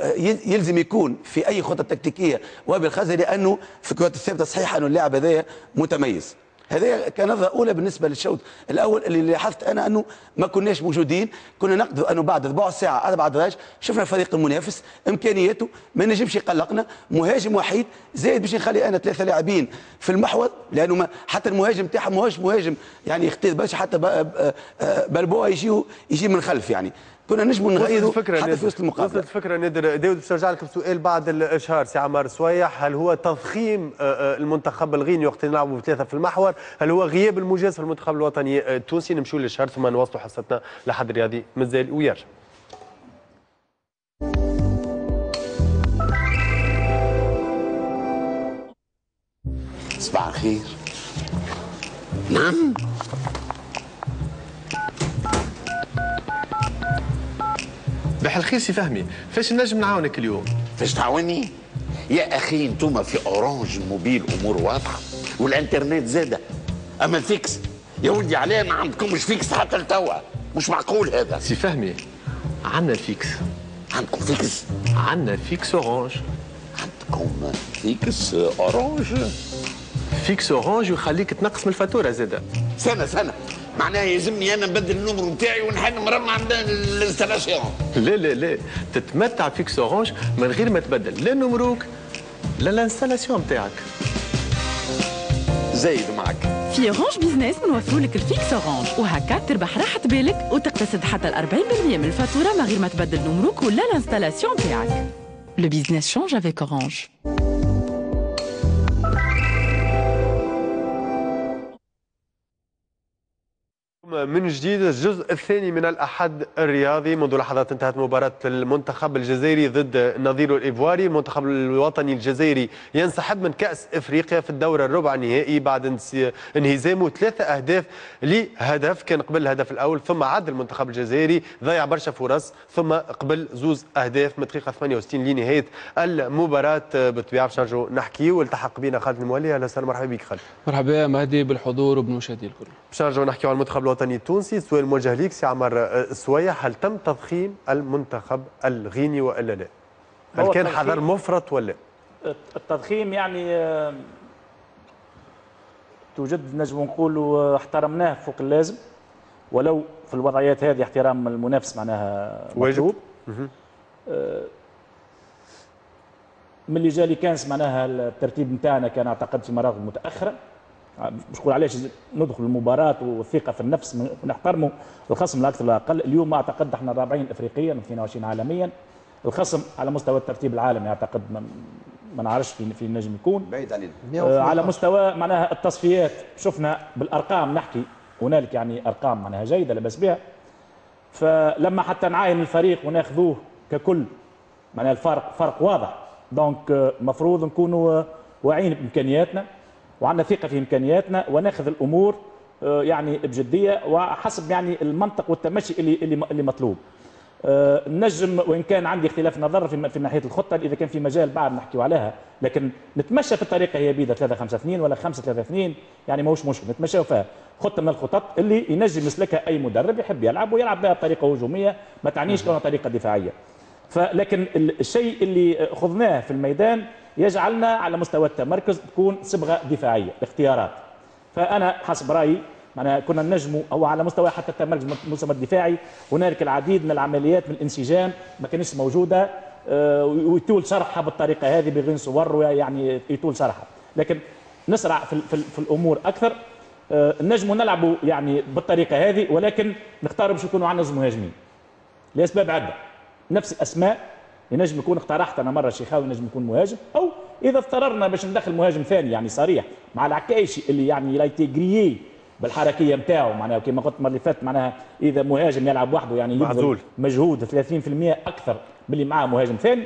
يلزم يكون في اي خطه تكتيكية وهبي الخزري، لانه في الكرات الثابتة صحيح انه اللاعب هذايا متميز. هذا كنظرة أولى بالنسبة للشوط الأول اللي لاحظت أنا أنه ما كناش موجودين. كنا نقدر أنه بعد ربع ساعة أربع دراج شفنا الفريق المنافس إمكانياته ما نجمش يقلقنا، مهاجم وحيد زايد باش نخلي أنا ثلاثة لاعبين في المحور، لأنه ما حتى المهاجم تاعهم ماهوش مهاجم يعني يختار برشا، حتى بلبوه يجي يجي من خلف. يعني كنا نجموا نغيروا حتى في وسط المقابلة. وصلت الفكرة نادر داود. باش نرجع لك بسؤال بعد الاشهار سي عمار سويح، هل هو تضخيم المنتخب الغيني وقت نلعبوا بثلاثة في المحور، هل هو غياب المجاز في المنتخب الوطني التونسي؟ نمشوا للاشهار ثم نواصلوا حصتنا لحد الرياضي مازال ويرجع. صباح الخير. نعم صباح الخير سي فهمي، فاش نجم نعاونك اليوم؟ فاش تعاوني؟ يا اخي انتم في Orange mobile امور واضحة والانترنت زاده، اما ال fixe يا ولدي علاه ما عندكمش fixe حتى لتوا؟ مش معقول هذا. سي فهمي عندنا ال fixe. عندكم fixe؟ عندنا fixe Orange. عندكم fixe Orange؟ fixe Orange يخليك تنقص من الفاتورة زاده. سنة سنة معناها يلزمني انا نبدل ال numéro نتاعي ونحل مرمى عند ال installation. لا لا لا، تتمتع fixe Orange من غير ما تبدل لا numéro ك لا l'installation نتاعك. زايد معك في Orange Business نوفروا لك ال fixe Orange، وهكا تربح راحة بالك وتقتصد حتى أربعين بالمية من الفاتورة من غير ما تبدل numéro ك ولا l'installation نتاعك. Le business change avec Orange. من جديد الجزء الثاني من الأحد الرياضي. منذ لحظات انتهت مباراة المنتخب الجزائري ضد نظيره الإيفواري. المنتخب الوطني الجزائري ينسحب من كأس إفريقيا في الدور الربع النهائي بعد انهزامه ثلاثة أهداف لهدف. كان قبل الهدف الأول ثم عاد المنتخب الجزائري، ضيع برشا فرص، ثم قبل زوز أهداف من دقيقة ثمانية وستين لنهاية المباراة. بالطبيعة باش نرجعوا نحكي والتحق بنا خالد المولي. أهلا وسهلا، مرحبا بك خالد. مرحبا مهدي بالحضور وبالمشاهدين الكل. باش نرجعوا نحكيو على المنتخب الوطني التونسي. السؤال موجه ليك سي عمر السويح، هل تم تضخيم المنتخب الغيني والا لا؟ هل كان حذر مفرط ولا؟ التضخيم يعني توجد نجم نقولوا احترمناه فوق اللازم، ولو في الوضعيات هذه احترام المنافس معناها مطلوب. من اللي جا ليكانس معناها الترتيب نتاعنا كان اعتقد في مراحل متاخرة. مش نقول علاش ندخل المباراة والثقة في النفس ونحترموا الخصم لا أكثر لا أقل. اليوم أعتقد احنا الرابعين إفريقيا اثنين وعشرين عالميا. الخصم على مستوى الترتيب العالمي أعتقد ما نعرفش في في النجم يكون بعيد علينا. آه على مستوى معناها التصفيات شفنا بالأرقام نحكي هنالك يعني أرقام معناها جيدة لا بأس بها. فلما حتى نعاين الفريق وناخذوه ككل معناها الفرق فرق واضح. donc المفروض نكونوا واعيين بإمكانياتنا وعندنا ثقة في إمكانياتنا وناخذ الأمور يعني بجدية وحسب يعني المنطق والتمشي اللي اللي اللي مطلوب. نجم وإن كان عندي اختلاف نظر في في ناحية الخطة إذا كان في مجال بعد نحكيو عليها، لكن نتمشى في الطريقة هي بيدها ثلاثة خمسة اثنين ولا خمسة ثلاثة اثنين يعني ماهوش مشكل، نتمشاو فيها. خطة من الخطط اللي ينجم يسلكها أي مدرب يحب يلعب ويلعب بها بطريقة هجومية ما تعنيش كونها طريقة دفاعية. فلكن الشيء اللي خضناه في الميدان يجعلنا على مستوى التمركز تكون صبغة دفاعية الاختيارات. فانا حسب رايي معناها كنا نجموا او على مستوى حتى التمركز المستوى الدفاعي هنالك العديد من العمليات من الانسجام ما كانتش موجودة، ويطول شرحها بالطريقة هذه بغير صور يعني يطول شرحها، لكن نسرع في, في, في الامور اكثر. نجموا نلعبوا يعني بالطريقة هذه، ولكن نختار باش يكونوا عندنا مهاجمين لاسباب عده. نفس الاسماء ينجم يكون اقترحت انا مرة شيخاوي ينجم يكون مهاجم، او اذا اضطررنا باش ندخل مهاجم ثاني يعني صريح مع العكايشي اللي يعني l'a été grillé بالحركيه نتاعو معناها كما قلت المرة اللي فاتت معناها اذا مهاجم يلعب وحده يعني يبذل مجهود ثلاثين بالمئة اكثر من اللي معاه مهاجم ثاني.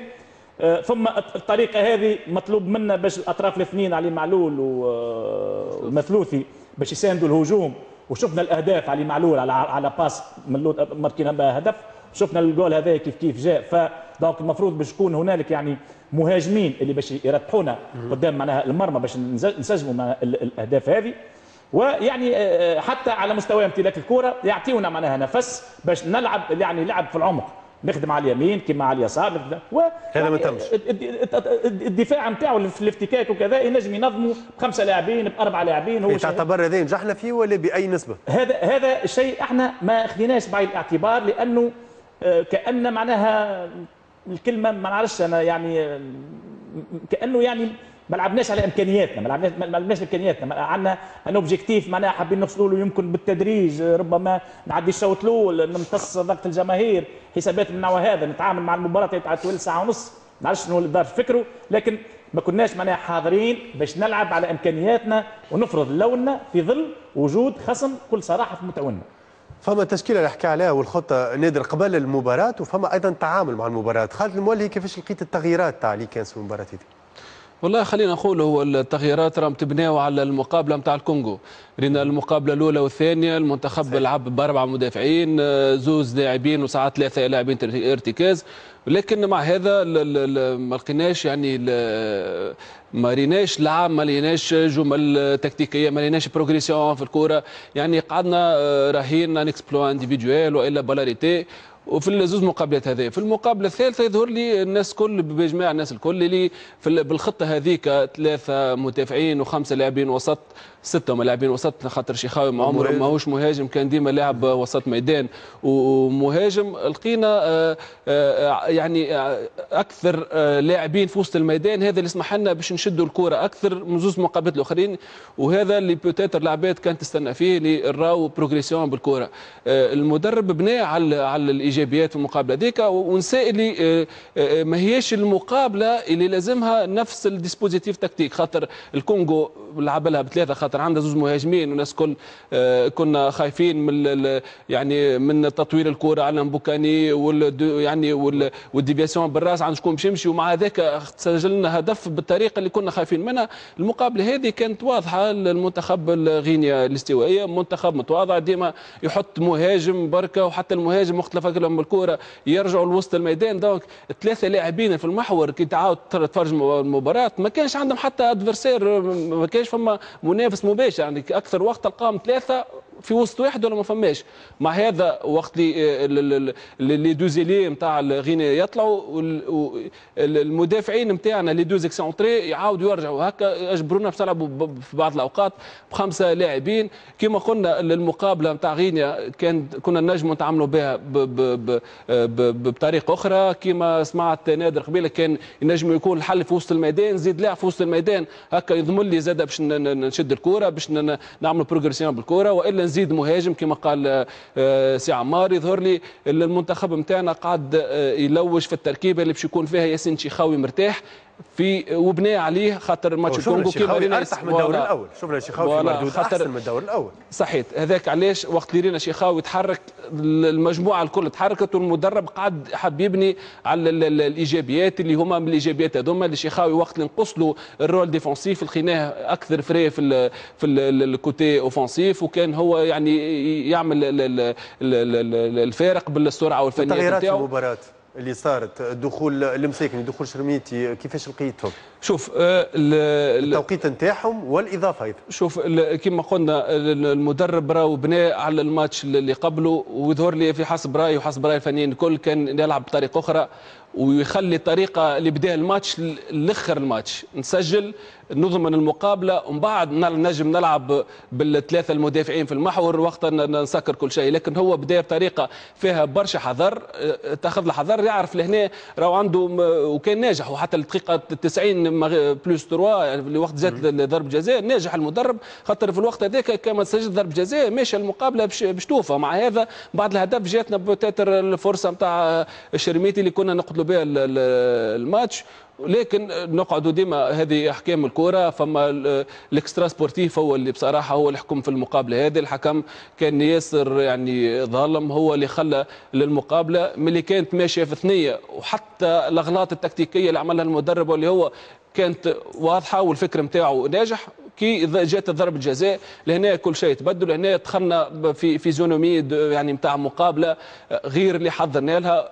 آه ثم الطريقة هذه مطلوب منا باش الاطراف الاثنين علي معلول والمثلوثي باش يساندوا الهجوم، وشفنا الاهداف علي معلول على على passe من ماركينا بها هدف، شفنا الجول هذا كيف كيف جاء. ف donc المفروض باش يكون هنالك يعني مهاجمين اللي باش يرتحونا قدام معناها المرمى باش نسجموا مع الاهداف هذه، ويعني حتى على مستوى امتلاك الكره يعطيونا معناها نفس باش نلعب يعني لعب في العمق، نخدم على اليمين كما على اليسار. و هذا ما تمش الدفاع نتاعو في الافتكاك وكذا ينجم ينظموا بخمسة لاعبين باربعة لاعبين. هو تعتبر هذا نجحنا فيه ولا باي نسبه؟ هذا هذا الشيء احنا ما اخذناش بعين الاعتبار، لانه كأن معناها الكلمة ما نعرفش انا يعني كانه يعني ما لعبناش على امكانياتنا، ما لعبناش ما لعبناش امكانياتنا، عندنا un objectif معناها حابين نوصلوا له يمكن بالتدريج، ربما نعدي الشوط الاول نمتص ضغط الجماهير، حسابات من النوع هذا، نتعامل مع المباراة تاع طول ساعة ونص، ما نعرفش شنو اللي دار فكرة، لكن ما كناش معناها حاضرين باش نلعب على امكانياتنا ونفرض لوننا في ظل وجود خصم كل صراحة في متعاوننا. فما التشكيلة اللي حكى عليها والخطه نادر قبل المباراة، وفما ايضا تعامل مع المباراة. خالد المولي كيفاش لقيت التغييرات تاع اللي كان في المباراة هذه؟ والله خلينا نقول هو التغييرات راهم تبناو على المقابلة نتاع الكونغو. رينا المقابلة الاولى والثانية المنتخب لعب باربعة مدافعين، زوز لاعبين وساعات ثلاثة لاعبين ارتكاز، لكن مع هذا ما لقيناش يعني ما ريناش لعب، ما لقيناش جمل تكتيكية، ما لقيناش progression في الكره، يعني قعدنا راهين un exploit individuel والا balle arrêtée. وفي الزوز مقابلات هذه، في المقابلة الثالثة يظهر لي الناس كل باجماع الناس الكل اللي في بالخطة هذيك ثلاثة مدافعين وخمسة لاعبين وسط، ستة من لاعبين وسط، خاطر شيخاوي ما عمره ماهوش مهاجم، كان ديما لاعب وسط ميدان ومهاجم. لقينا يعني اكثر لاعبين في وسط الميدان، هذا اللي سمح لنا باش نشدوا الكره اكثر من زوز مقابلات الاخرين، وهذا اللي peut-être العباد كانت تستنى فيه اللي راو progression بالكرة. المدرب بنى على على الايجابيات في المقابلة هذيك، ونسى اللي ما هيش المقابلة اللي لازمها نفس ال dispositif tactique، خاطر الكونغو لعب لها بثلاثة خاطر عندها زوج مهاجمين، والناس كل كنا خايفين من يعني من تطوير الكره على مبوكاني وال يعني وال déviation بالراس عند شكون باش يمشي، ومع ذاك سجلنا هدف بالطريقة اللي كنا خايفين منها. المقابلة هذه كانت واضحة للمنتخب الغينيا الاستوائيه، منتخب متواضع ديما يحط مهاجم بركة، وحتى المهاجم وقت لفك لهم الكره يرجعوا لوسط الميدان. donc ثلاثة لاعبين في المحور كي تعاود تتفرج المباراة ما كانش عندهم حتى adversaire، ما كانش فما منافس مباشر، يعني اكثر وقت تلقاهم ثلاثة في وسط واحد ولا ما فماش. مع هذا وقت اللي les deux ailiers نتاع غينيا يطلعوا المدافعين نتاعنا les deux excentrés يعاودوا يرجعوا، هكا اجبرونا باش نلعبوا في بعض الاوقات بخمسة لاعبين. كما قلنا المقابلة نتاع غينيا كان كنا نجموا نتعاملوا بها بطريقة اخرى، كما سمعت نادر قبيلة كان ينجم يكون الحل في وسط الميدان، زيد لاعب في وسط الميدان هكا يضمن لي زاد باش نشد الكره باش نعملوا progression بالكرة، والا نزيد مهاجم كما قال سي عمار. يظهر لي المنتخب نتاعنا قاعد يلوج في التركيبة اللي باش يكون فيها ياسين شيخاوي مرتاح في وبناء عليه، خاطر ماتش الكونغو كيما رينا ارتاح من الدور الاول، شفنا شيخاوي في مردود احسن من الدور الاول. صحيت، هذاك علاش وقت اللي رينا شيخاوي تحرك المجموعة الكل تحركت، والمدرب قعد حب يبني على الايجابيات اللي هما من الايجابيات هذوما اللي شيخاوي وقت اللي نقص له ال rôle défensif لقيناه اكثر frais في ال في ال côté offensif، وكان هو يعني يعمل الفارق بالسرعة والفنيات نتاعو. المباراة اللي صارت، دخول المساكني، دخول شرميتي، كيفاش لقيتهم؟ شوف التوقيت نتاعهم والاضافة ايضا. شوف كما قلنا المدرب راهو بنى على الماتش اللي قبله، ويظهر لي في حسب رايي وحسب راي الفنيين الكل كان يلعب بطريقة اخرى ويخلي الطريقة اللي بدا الماتش لاخر الماتش، نسجل نضمن المقابلة ومن بعد نجم نلعب بالثلاثة المدافعين في المحور وقتها نسكر كل شيء. لكن هو بدا بطريقة فيها برشا حذر، تاخذ الحذر، يعرف لهنا راهو عنده وكان ناجح، وحتى الدقيقة تسعين plus ثلاثة اللي وقت جات ضرب جزاء ناجح المدرب، خاطر في الوقت هذاك كما سجل ضرب جزاء ماشي المقابلة باش توفى. مع هذا بعد الهدف جاتنا peut-être الفرصة نتاع الشرميتي اللي كنا نقتلوا بها الماتش. لكن نقعدوا ديما هذه احكام الكره، فما ال extra-sportif هو اللي بصراحة هو اللي حكم في المقابلة هذه. الحكم كان ياسر يعني ظالم، هو اللي خلى للمقابله من اللي كانت ماشية في ثنيه، وحتى الاغلاط التكتيكيه اللي عملها المدرب واللي هو كانت واضحة والفكر نتاعو ناجح. كي جات ضربه الجزاء لهنا كل شيء تبدل، لهنا دخلنا في physionomie يعني نتاع مقابله غير اللي حضرنا لها،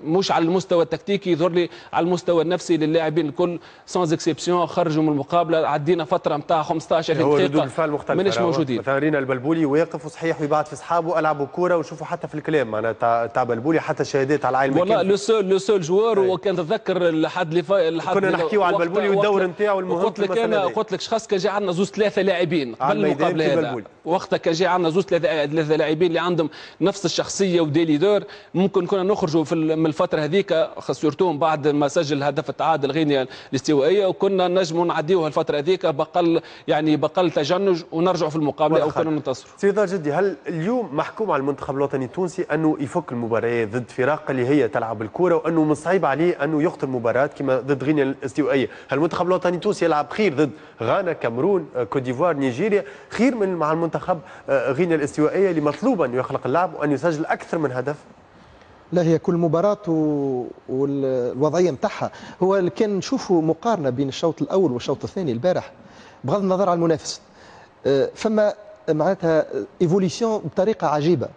مش على المستوى التكتيكي، يظهر لي على المستوى النفسي للاعبين الكل sans exception خرجوا من المقابلة. عدينا فترة نتاع خمسطاش دقيقة ماناش موجودين. مثلا رينا البلبولي واقف وصحيح ويبعث في اصحابه العبوا كورة، وشوفوا حتى في الكلام معناها تاع تاع بلبولي حتى شهادات على العالم. والله le seul le seul joueur، وكان تتذكر لحد اللي كنا نحكيو على البلبولي والدور نتاعو المهم. قلت لك انا قلت لك خاص كان جا عندنا زوز ثلاثة لاعبين قبل المقابلة هذا، وقتها كان جا عندنا زوز ثلاثة لاعبين اللي عندهم نفس الشخصية و des leaders، ممكن كنا نخرجوا في من الفترة هذيك، surtout بعد ما سجل هدف التعادل غينيا الاستوائيه، وكنا نجموا نعديوها الفترة هذيك بقل يعني بقل تجنج ونرجعوا في المقابلة او كنا ننتصروا. سيدي جدي، هل اليوم محكوم على المنتخب الوطني التونسي انه يفك المباريات ضد فرق اللي هي تلعب الكره، وانه من صعيب عليه انه يخطر مباراة كما ضد غينيا الاستوائيه؟ هل المنتخب الوطني التونسي يلعب خير ضد غانا، كاميرون، كوت ديفوار، نيجيريا، خير من مع المنتخب غينيا الاستوائيه اللي مطلوب ان يخلق اللعب وان يسجل اكثر من هدف؟ لا، هي كل مباراة والوضعية نتاعها. هو كان نشوفوا مقارنة بين الشوط الأول والشوط الثاني البارح، بغض النظر عن المنافس، فما معناتها évolution بطريقة عجيبة.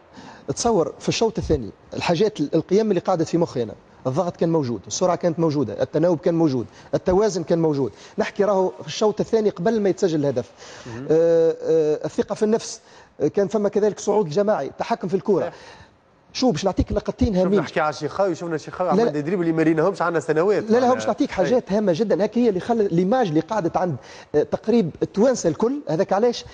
تصور في الشوط الثاني الحاجات القيم اللي قعدت في مخي أنا، الضغط كان موجود، السرعة كانت موجودة، التناوب كان موجود، التوازن كان موجود. نحكي راهو في الشوط الثاني قبل ما يتسجل الهدف. آه آه الثقة في النفس كان فما، كذلك صعود الجماعي، تحكم في الكرة. شو باش نعطيك لقطتين هامين. نحكي على شيخاوي، شفنا شيخاوي عمل des dribbles اللي ما ريناهمش عندنا سنوات. لا لا، هو باش نعطيك حاجات هامة جدا، هاك هي اللي خلى l'image اللي قعدت عند تقريب التوانسة الكل. هذاك علاش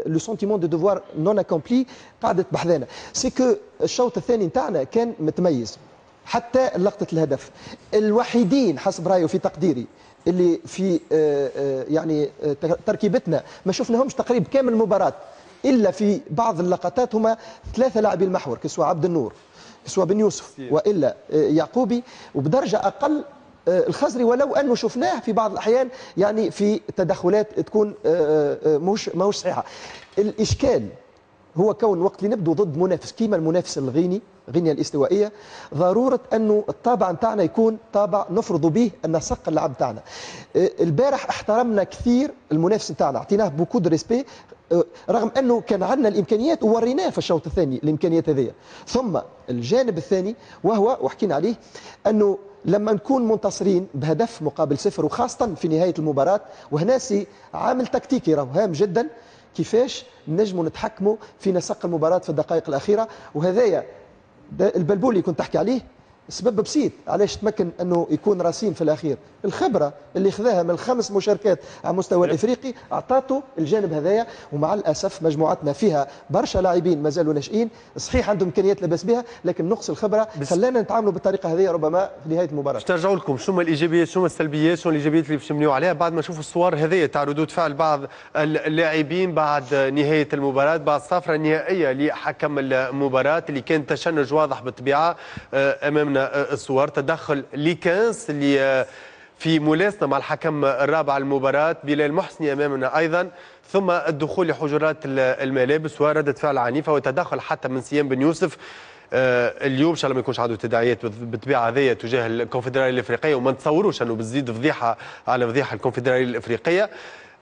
le sentiment de devoir non accompli قعدت بحذانا. c'est que الشوط الثاني نتاعنا كان متميز حتى لقطة الهدف. الوحيدين حسب رايي وفي تقديري اللي في يعني تركيبتنا ما شفناهمش تقريب كامل المباراة الا في بعض اللقطات هما ثلاثة لاعبي المحور، que ce soit عبد النور، سواء بن يوسف والا يعقوبي، وبدرجه اقل الخزري، ولو انه شفناه في بعض الاحيان يعني في تدخلات تكون مش ماهوش صحيحه. الاشكال هو كون وقت اللي نبدو ضد منافس كيما المنافس الغيني، غينيا الاستوائيه، ضرورة انه الطابع نتاعنا يكون طابع نفرض به النسق اللعب نتاعنا. البارح احترمنا كثير المنافس نتاعنا، اعطيناه beaucoup de respect، رغم انه كان عندنا الامكانيات ووريناه في الشوط الثاني الامكانيات هذه. ثم الجانب الثاني وهو وحكينا عليه، انه لما نكون منتصرين بهدف مقابل صفر وخاصة في نهاية المباراة، وهنا c'est عامل تكتيكي راهو هام جدا، كيفاش نجموا نتحكموا في نسق المباراة في الدقائق الاخيرة. وهذايا البلبولي اللي كنت تحكي عليه سبب بسيط علاش تمكن انه يكون راسين في الاخير، الخبرة اللي خذاها من الخمس مشاركات على مستوى الافريقي اعطاته الجانب هذايا. ومع الاسف مجموعتنا فيها برشا لاعبين مازالوا ناشئين، صحيح عندهم امكانيات لاباس بها، لكن نقص الخبرة خلانا نتعاملوا بالطريقة هذه ربما في نهاية المباراة. باش ترجعوا لكم شنو الايجابيات شنو السلبيات شنو الايجابيات اللي باش نبنيو عليها بعد ما نشوفوا الصور هذه تاع ردود فعل بعض اللاعبين بعد نهاية المباراة، بعد الصفرة النهائية لحكم المباراة اللي كان تشنج واضح بالطبيعة. امامنا الصور تدخل ليكانس اللي في ملاسنه مع الحكم الرابع المباراة بلال محسني امامنا ايضا، ثم الدخول لحجرات الملابس وردة فعل عنيفة وتدخل حتى من سيام بن يوسف. اليوم ان شاء الله ما يكونش عنده تداعيات بالطبيعة هذيا تجاه الكونفدراليه الافريقية، وما نتصوروش انه بتزيد فضيحة على فضيحة الكونفدراليه الافريقية،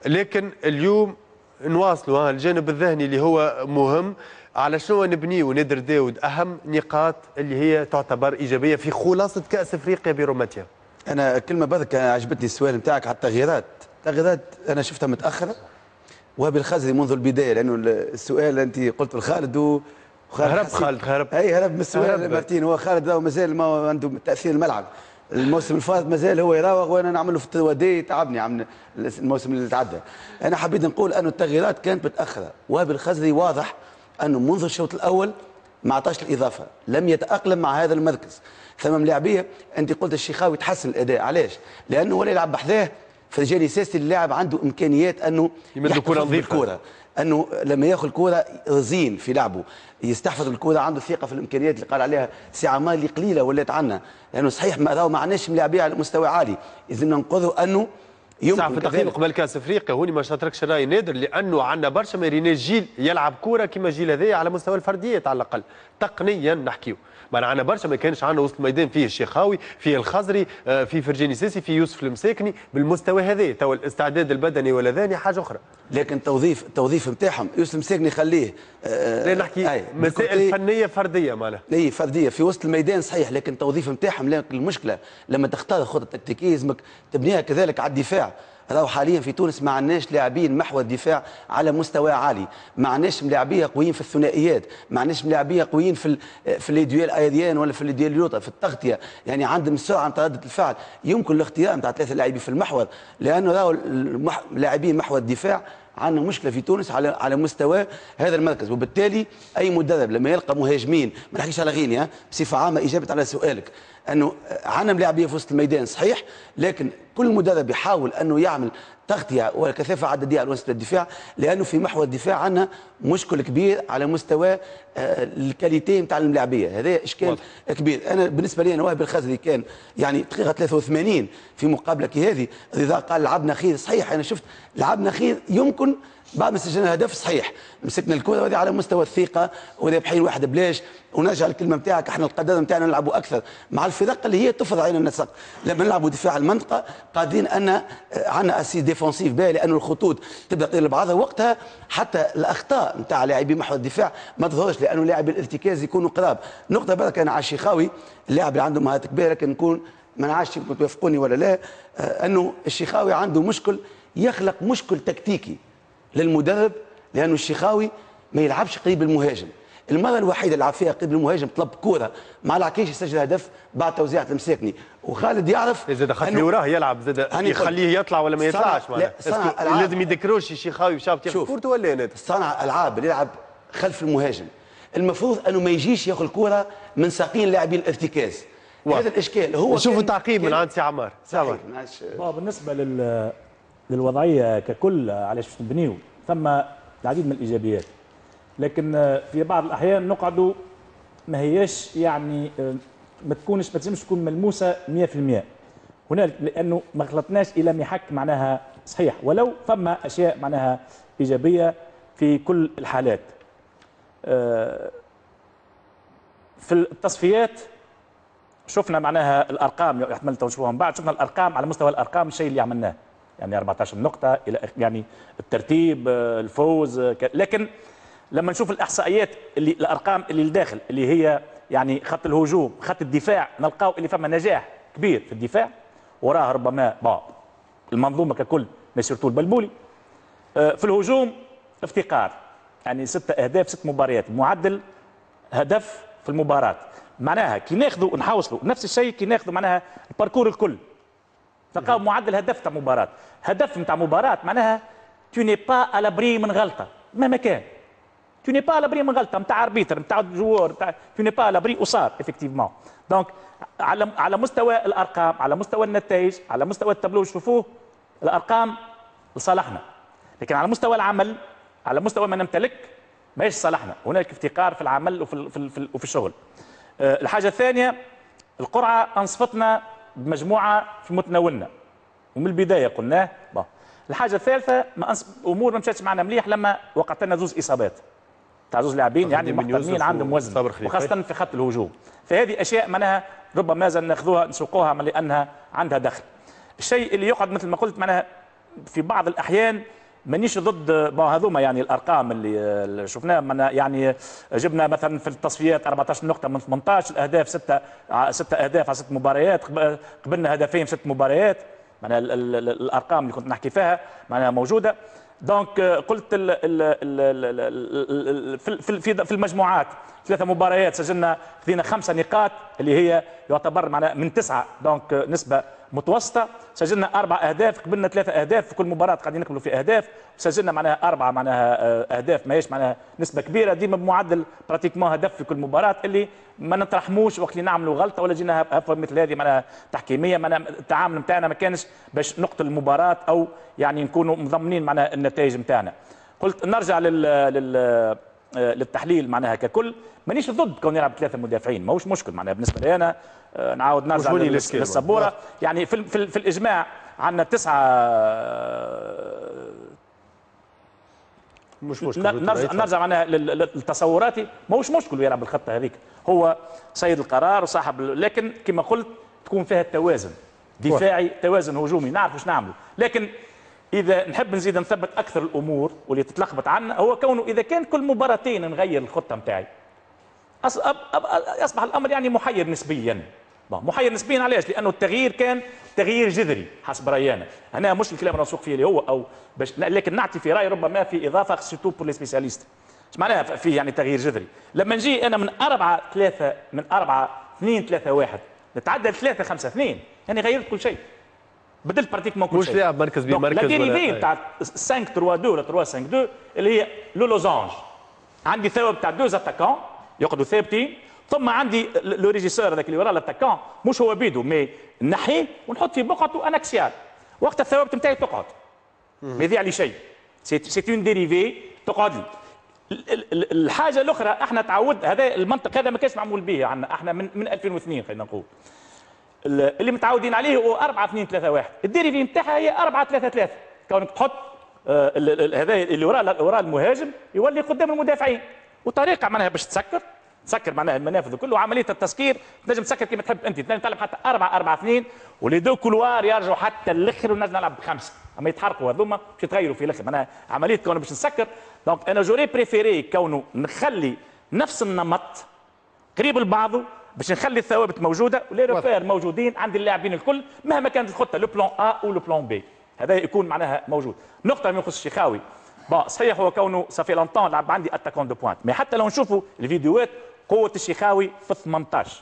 لكن اليوم نواصلوا الجانب الذهني اللي هو مهم. على شنو نبنيه نادر داود اهم نقاط اللي هي تعتبر ايجابية في خلاصه كاس افريقيا بروماتيا؟ انا كلمة برك عجبتني السؤال نتاعك على التغييرات. التغييرات انا شفتها متاخرة، وهبي الخزري منذ البداية، لانه السؤال انت قلت لخالد و هرب خالد هرب اي هرب من السؤال مارتين. هو خالد مازال ما عنده تاثير الملعب، الموسم الفات مازال هو يراوغ وانا نعمل له في التوادي تعبني عم الموسم اللي تعدى. انا حبيت نقول انه التغييرات كانت متاخرة، وهبي الخزري واضح انه منذ الشوط الاول ما عطاش الاضافة، لم يتاقلم مع هذا المركز. ثم ملاعبيه انت قلت الشيخاوي تحسن الاداء، علاش؟ لانه ولا يلعب بحذاه فرجاني ساسي، اللاعب عنده امكانيات انه يمد الكره نظيفة، الكره انه لما ياخذ الكره رزين في لعبه، يستحفظ الكره، عنده ثقة في الامكانيات اللي قال عليها سي عمار اللي قليله ولات عندنا، لانه صحيح ما ما عندناش ملاعبيه على مستوى عالي، لازمنا ننقذوا انه يمكن في التقييم قبل كاس افريقيا. هوني ما شاطركش راي نادر، لانه عندنا برشا ما ريناش جيل يلعب كورة كما الجيل هذايا على مستوى الفرديات على الاقل تقنيا نحكيو. معنا عندنا برشا ما كانش عندنا وسط الميدان فيه الشيخاوي، فيه الخزري، فيه فرجاني ساسي، فيه يوسف المساكني بالمستوى هذا. تو الاستعداد البدني ولا ذاني حاجة اخرى، لكن توظيف التوظيف نتاعهم يوسف المساكني خليه لا نحكي مسائل فنية فردية معناها اي فردية في وسط الميدان صحيح، لكن التوظيف نتاعهم. لكن المشكلة لما تختار خطه تكتيكية لازمك تبنيها كذلك على الدفاع. راهو حاليا في تونس ما عندناش لاعبين محور الدفاع على مستوى عالي، ما عندناش ملاعبيه قويين في الثنائيات، ما عندناش ملاعبيه قويين في ال في les duels aériens ولا في les duels لوطا في التغطية، يعني عندهم السرعة نتاع رده الفعل. يمكن الاختيار نتاع ثلاثة لاعبين في المحور، لانه راهو لاعبين محور الدفاع عندنا مشكلة في تونس على على مستوى هذا المركز. وبالتالي اي مدرب لما يلقى مهاجمين، ما نحكيش على غينيا بصفة عامة، اجابه على سؤالك انه عندنا ملاعبيه في وسط الميدان صحيح، لكن كل مدرب يحاول انه يعمل تغطيه وكثافه عددية على وسط الدفاع، لانه في محور الدفاع عندنا مشكل كبير على مستوى ال qualité نتاع الملاعبيه، هذا اشكال واضح. كبير. انا بالنسبة لي انا وهبي الخزري كان يعني دقيقة ثلاثة وثمانين في مقابله كي هذه، رضا قال لعبنا خير، صحيح انا شفت لعبنا خير يمكن بعد ما سجلنا هدف صحيح مسكنا الكره، وهذه على مستوى الثقة ورابحين واحد بلاش. ونرجع الكلمة نتاعك، احنا القدر نتاعنا نلعبوا اكثر مع الفرق اللي هي تفرض علينا النسق. لما نلعبوا دفاع المنطقة قادرين ان عندنا assise défensive باهي، لانه الخطوط تبدا تطير لبعضها وقتها، حتى الاخطاء نتاع لاعبي محور الدفاع ما تظهرش، لانه لاعبي الارتكاز يكونوا قراب. نقطة برك انا على الشيخاوي، اللاعب اللي عنده مهارات كبيرة، لكن نكون ما نعرفش يمكن توافقوني ولا لا، انه الشيخاوي عنده مشكل، يخلق مشكل تكتيكي للمدرب، لانه الشيخاوي ما يلعبش قريب المهاجم. المرة الوحيدة اللي لعب فيها قريب المهاجم طلب كورة مع العكيش يسجل هدف بعد توزيعه المساكني، وخالد يعرف زاد خاطر اللي وراه يلعب زاد يخليه يطلع ولا ما يطلعش، معناها لازم يدكروش الشيخاوي باش ياخذ كورته ولا نادر. صانع العاب اللي يلعب خلف المهاجم المفروض انه ما يجيش ياخذ الكورة من ساقين لاعبين الارتكاز. هذا الاشكال هو. نشوفوا تعقيب من عند سي عمار. سي عمار بالنسبة لل للوضعيه ككل علاش باش نبنيو، ثم العديد من الايجابيات، لكن في بعض الاحيان نقعدوا ما هياش يعني ما تكونش ما تنجمش تكون ملموسة مية في المية هنالك، لانه ما خلطناش الى محك معناها صحيح، ولو فما اشياء معناها ايجابية في كل الحالات. في التصفيات شفنا معناها الارقام، احتمال تشوفوها من بعد، شفنا الارقام على مستوى الارقام الشيء اللي عملناه، يعني أربعة عشر نقطة الى يعني الترتيب، الفوز، لكن لما نشوف الاحصائيات اللي الارقام اللي لداخل اللي هي يعني خط الهجوم، خط الدفاع، نلقاو اللي فما نجاح كبير في الدفاع، وراه ربما bon المنظومة ككل mais surtout البلبولي. في الهجوم افتقار، يعني ستة اهداف ست مباريات، معدل هدف في المباراة. معناها كي ناخذوا نحوصلوا نفس الشيء، كي ناخذوا معناها ال parcours الكل تلقاو معدل هدف تاع مباراة، هدف نتاع مباراة معناها tu n'es pas à l'abri من غلطه مهما كان، tu n'es pas à l'abri من غلطه نتاع arbitre، نتاع joueur، نتاع tu n'es pas à l'abri، وصار effectivement. donc على على مستوى الارقام، على مستوى النتائج، على مستوى التابلو شوفوه الارقام لصالحنا، لكن على مستوى العمل، على مستوى ما نمتلك، ماهيش صالحنا. هناك افتقار في العمل وفي في, في, وفي الشغل. أه الحاجة الثانية، القرعة انصفتنا بمجموعه في متناولنا ومن البداية قلناه. bon الحاجة الثالثه، ما أنص... امور ما مشاتش معنا مليح لما وقعت لنا زوز اصابات تاع زوز لاعبين يعني محترمين عندهم وزن، وخاصة في خط الهجوم. فهذه اشياء معناها ربما زال ناخذوها نسوقوها لانها عندها دخل. الشيء اللي يقعد مثل ما قلت معناها في بعض الاحيان مانيش ضد bon هذوما يعني الارقام اللي شفناها، يعني جبنا مثلا في التصفيات أربعة عشر نقطة من ثمانية عشر، الاهداف ستة ستة اهداف على ست مباريات، قبلنا هدفين في ست مباريات، معناها الارقام اللي كنت نحكي فيها معناها موجودة. donc قلت ال ال ال في في في المجموعات ثلاثة مباريات سجلنا خذينا خمسة نقاط اللي هي يعتبر معناها من تسعه، donc نسبه متوسطه. سجلنا اربع اهداف، قبلنا ثلاثة اهداف في كل مباراة، قاعدين نقبلوا في اهداف. سجلنا معناها اربعة معناها اهداف، ماهيش معناها نسبه كبيره، ديما بمعدل pratiquement هدف في كل مباراة، اللي ما نترحموش وقت اللي نعملوا غلطه ولا جينا هفوة مثل هذه معناها تحكيميه. معناها التعامل نتاعنا ما كانش باش نقتل المباراة او يعني نكونوا مضمنين معناها النتائج نتاعنا. قلت نرجع لل, لل للتحليل معناها ككل، مانيش ضد كون يلعب ثلاثة مدافعين، ماهوش مشكل معناها بالنسبة لي انا. نعاود نرجع للسبوره، يعني في, في, في الاجماع عندنا تسعة مش مشكل. نرجع نرجع معناها لتصوراتي، ماهوش مشكل يلعب بالخطة هذيك، هو سيد القرار وصاحب، لكن كما قلت تكون فيها التوازن دفاعي، توازن هجومي، نعرف واش نعملوا. لكن اذا نحب نزيد نثبت اكثر الامور واللي تتلخبط عنا، هو كونه اذا كان كل مباراتين نغير الخطة نتاعي اصبح الامر يعني محير نسبيا. محير نسبيا علاش؟ لانه التغيير كان تغيير جذري حسب رايي انا. هنا مش الكلام اللي نسوق فيه اللي هو او باش، لكن نعطي في راي ربما في اضافه surtout pour les spécialistes. ايش معناها فيه يعني تغيير جذري؟ لما نجي انا من أربعة ثلاثة من أربعة اثنين ثلاثة واحد نتعدى ثلاثة خمسة اثنين، يعني غيرت كل شيء، بدلت pratiquement كل مش شيء. لاعب مركز بمركز. la dérivée تاع خمسة ثلاثة اثنين ولا ثلاثة خمسة اثنين اللي هي le losange، عندي ثوابت تاع deux attaquants يقعدوا ثابتين، ثم عندي le régisseur هذاك اللي ورا l'attaquant، مش هو بيدو mais نحيه ونحط في بقعته un axial، وقت الثوابت نتاعي تقعد ما يضيع لي شيء، c'est une dérivée تقعد لي. الحاجة الاخرى احنا تعود هذا المنطق هذا ما كانش معمول به عندنا احنا من من ألفين واثنين خلينا نقول، اللي متعودين عليه هو أربعة اثنين ثلاثة واحد، ال dérivée نتاعها هي أربعة ثلاثة ثلاثة، كونك تحط هذا اللي وراء وراء المهاجم يولي قدام المدافعين، وطريقه معناها باش تسكر تسكر معناها المنافذ الكل، وعملية التسكير تنجم تسكر كما تحب انت، تنجم تلعب حتى أربعة أربعة اثنين و les deux couloirs يرجعوا حتى الاخر ونجم نلعب بخمسة، اما يتحرقوا هذوما باش يتغيروا في الاخر، معناها عملية كونه باش نسكر. donc انا j'aurais préféré كونه نخلي نفس النمط قريب لبعضه باش نخلي الثوابت موجودة و les repères موجودين عند اللاعبين الكل مهما كانت الخطة، le plan A او le plan B، هذا يكون معناها موجود. نقطة ما يخص الشيخاوي، bon صحيح هو كونه ça fait longtemps لعب عندي attaquant de pointe، mais حتى لو نشوفوا الفيديوهات قوة الشيخاوي في ثمانية عشر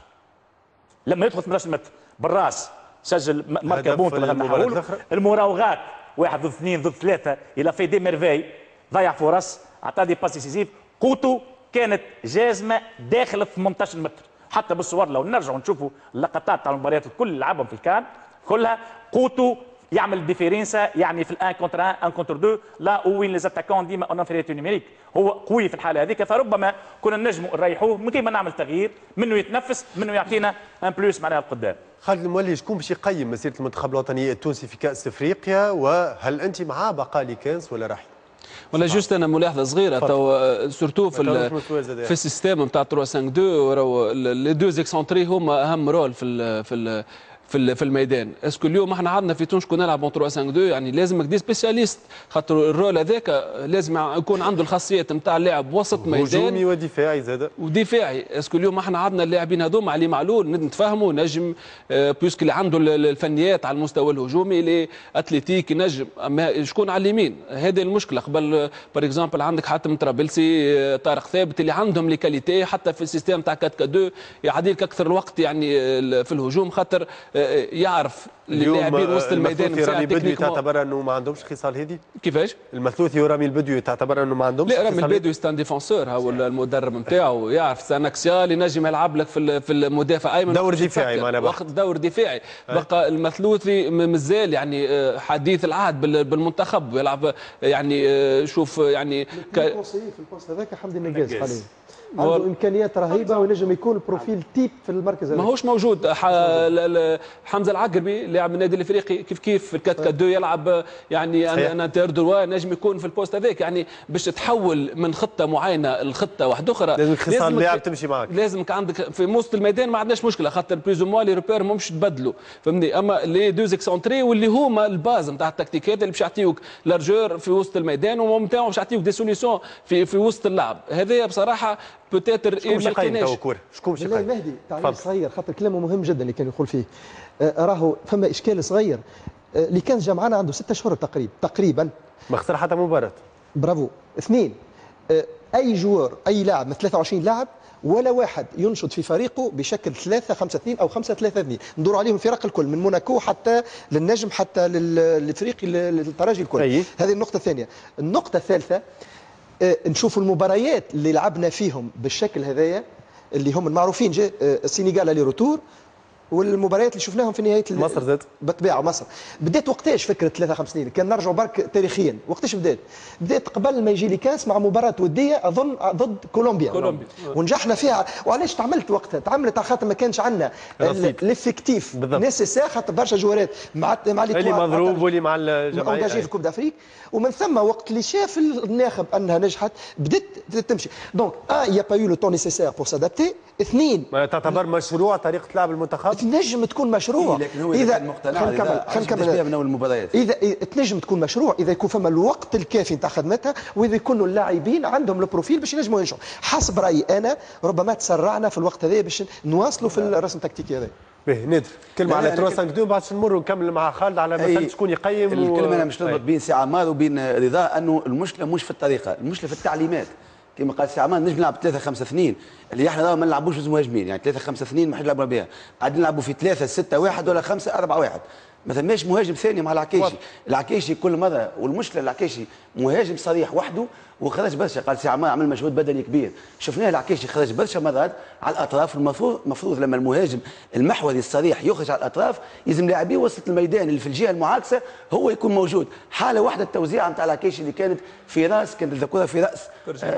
لما يدخل ثمانية عشر متر بالراس سجل marqua but، المراوغات واحد ضد اثنين ضد ثلاثة il a fait des merveilles، ضيع فرص، عطى des passes décisives، قوته كانت جازمه داخل ثمانية عشر متر. حتى بالصور لو نرجعوا نشوفوا اللقطات تاع المباريات الكل اللي لعبهم في الكان كلها قوته يعمل différence يعني في ال un contre un، un contre deux، là وين les attaquants ديما en infériorité numérique، هو قوي في الحالة هذيك. فربما كنا نجموا نريحوه من كيما نعمل تغيير منه يتنفس، منه يعطينا un plus معناها القدام. خالد المولي، شكون باش يقيم مسيره المنتخب الوطني التونسي في كاس افريقيا، وهل انت مع بقاء ليكانس ولا رحيل؟ ولا juste انا ملاحظة صغيرة تو surtout في في ال système نتاع ثلاثة خمسة اثنين، راهو les deux excentrés هما اهم rôle في ال في ال في في الميدان. est-ce que اليوم احنا عندنا في تونس كنا نلعب ثلاثة خمسة اثنين، يعني لازمك des spécialistes، خاطر ال rôle هذاك لازم يكون عنده الخاصيات نتاع اللاعب وسط ميدان هجومي ودفاعي زاد ودفاعي. est-ce que اليوم احنا عندنا اللاعبين هذوما علي معلول نتفاهموا نجم، puisque اللي عنده الفنيات على المستوى الهجومي اللي athlétique نجم، اما شكون على اليمين؟ هذه المشكلة. قبل par exemple عندك حاتم طرابلسي، طارق ثابت، اللي عندهم les qualités حتى في ال système تاع أربعة أربعة اثنين يعديلك اكثر الوقت يعني في الهجوم، خاطر يعرف اللاعبين وسط الميدان. المثلوثي ورامي البدوي تعتبر انه ما عندهمش خصال هذه؟ كيفاش؟ المثلوثي ورامي البدوي تعتبر انه ما عندهمش؟ لا، رامي البدوي c'est un défenseur، هو المدرب نتاعو يعرف c'est un axial، ينجم يلعب لك في في المدافع ايمن، دور دفاعي معناها وقت دور دفاعي. بقى المثلوثي مازال يعني حديث العهد بالمنتخب، يلعب يعني شوف يعني ك... في ال poste هذاك حمدي النقاز حاليا عنده امكانيات رهيبة وينجم يكون profil type في المركز هذا، ماهوش موجود. حمزة العقربي لاعب من النادي الافريقي كيف كيف في ال quatre quatre اثنين يلعب يعني un arrière droit، نجم يكون في ال poste هذاك. يعني باش تتحول من خطه معينة لخطة واحدة اخرى لازمك خصال لاعب تمشي معك، لازمك عندك في وسط الميدان ما عندناش مشكلة، خاطر plus ou moins les repères مش تبدلوا، فهمني. اما les deux excentrés واللي هما ال base نتاع التكتيكات اللي باش يعطيوك largeur في وسط الميدان ومتاعهم باش يعطيوك des solutions في في وسط اللعب. هذايا بصراحة peut-être شكون باش يقيم تو كورة؟ شكون باش يقيم؟ مهدي تعليق صغير خاطر كلامه مهم جدا اللي كان يقول فيه. آه راهو فما اشكال صغير، آه اللي كان جا معنا عنده ستة اشهر تقريبا تقريبا ما خسر حتى مباراة. برافو. اثنين، آه اي joueur اي لاعب من ثلاثة وعشرين لاعب ولا واحد ينشط في فريقه بشكل ثلاثة خمسة اثنين او خمسة ثلاثة اثنين، ندور عليهم الفرق الكل من موناكو حتى للنجم حتى للفريق للترجي الكل. أي. هذه النقطة الثانية. النقطة الثالثة، نشوفوا المباريات اللي لعبنا فيهم بالشكل هذايا اللي هم المعروفين، جا السنغال aller-retour، والمباريات اللي شفناهم في نهاية مصر زاد بالطبيعة. مصر بدات وقتاش فكرة ثلاثة خمسة اثنين؟ كان نرجعوا برك تاريخيا وقتاش بدات؟ بدات قبل ما يجي لي كاس مع مباراة وديه اظن ضد كولومبيا، كولومبيا ونجحنا فيها. وعلاش تعملت وقتها؟ تعملت على خاطر ما كانش عندنا l'effectif nécessaire، خاطر برشا جوارات مع مع اللي مضروب واللي مع الجمعية engagés في Coupe d'Afrique. ومن ثم وقت اللي شاف الناخب انها نجحت بدات تمشي. donc un y a pas eu le temps nécessaire pour s'adapter. اثنين، ما تعتبر مشروع طريقه لعب المنتخب؟ تنجم تكون مشروع إيه، لكن هو اذا كان مقتنع خلينا نكمل من اول المباريات، اذا تنجم تكون مشروع اذا يكون فما الوقت الكافي نتاع خدمتها، واذا يكونوا اللاعبين عندهم ال profil باش ينجموا ينجحوا. حسب رايي انا ربما تسرعنا في الوقت هذا باش نواصلوا في الرسم التكتيكي هذا. باهي نادر، كلمة على ثلاثة خمسة اثنين بعد نمر ونكمل مع خالد على مثلا شكون يقيم. الكلمة انا مش نربط بين سي عمار وبين رضا انه المشكلة مش في الطريقة، المشكلة في التعليمات. كما قال سي عمار نجم نلعب ثلاثة خمسة اثنين اللي احنا ما نلعبوش مهاجمين، يعني ثلاثة خمسة اثنين ما حد يلعبوا بها، قاعدين نلعبوا في ثلاثة ستة واحد ولا خمسة أربعة واحد. ما ثماش مهاجم ثاني مع العكيشي، العكيشي كل مرة، والمشكلة العكيشي مهاجم صريح وحده وخرج برشا، قال سي عمار عمل مجهود بدني كبير، شفناه العكيشي خرج برشا مرات على الاطراف. المفروض المفروض لما المهاجم المحوري الصريح يخرج على الاطراف يلزم لاعبيه وسط الميدان اللي في الجهة المعاكسة هو يكون موجود. حاله واحدة التوزيعه نتاع العكيشي اللي كانت في راس، كانت الكره في راس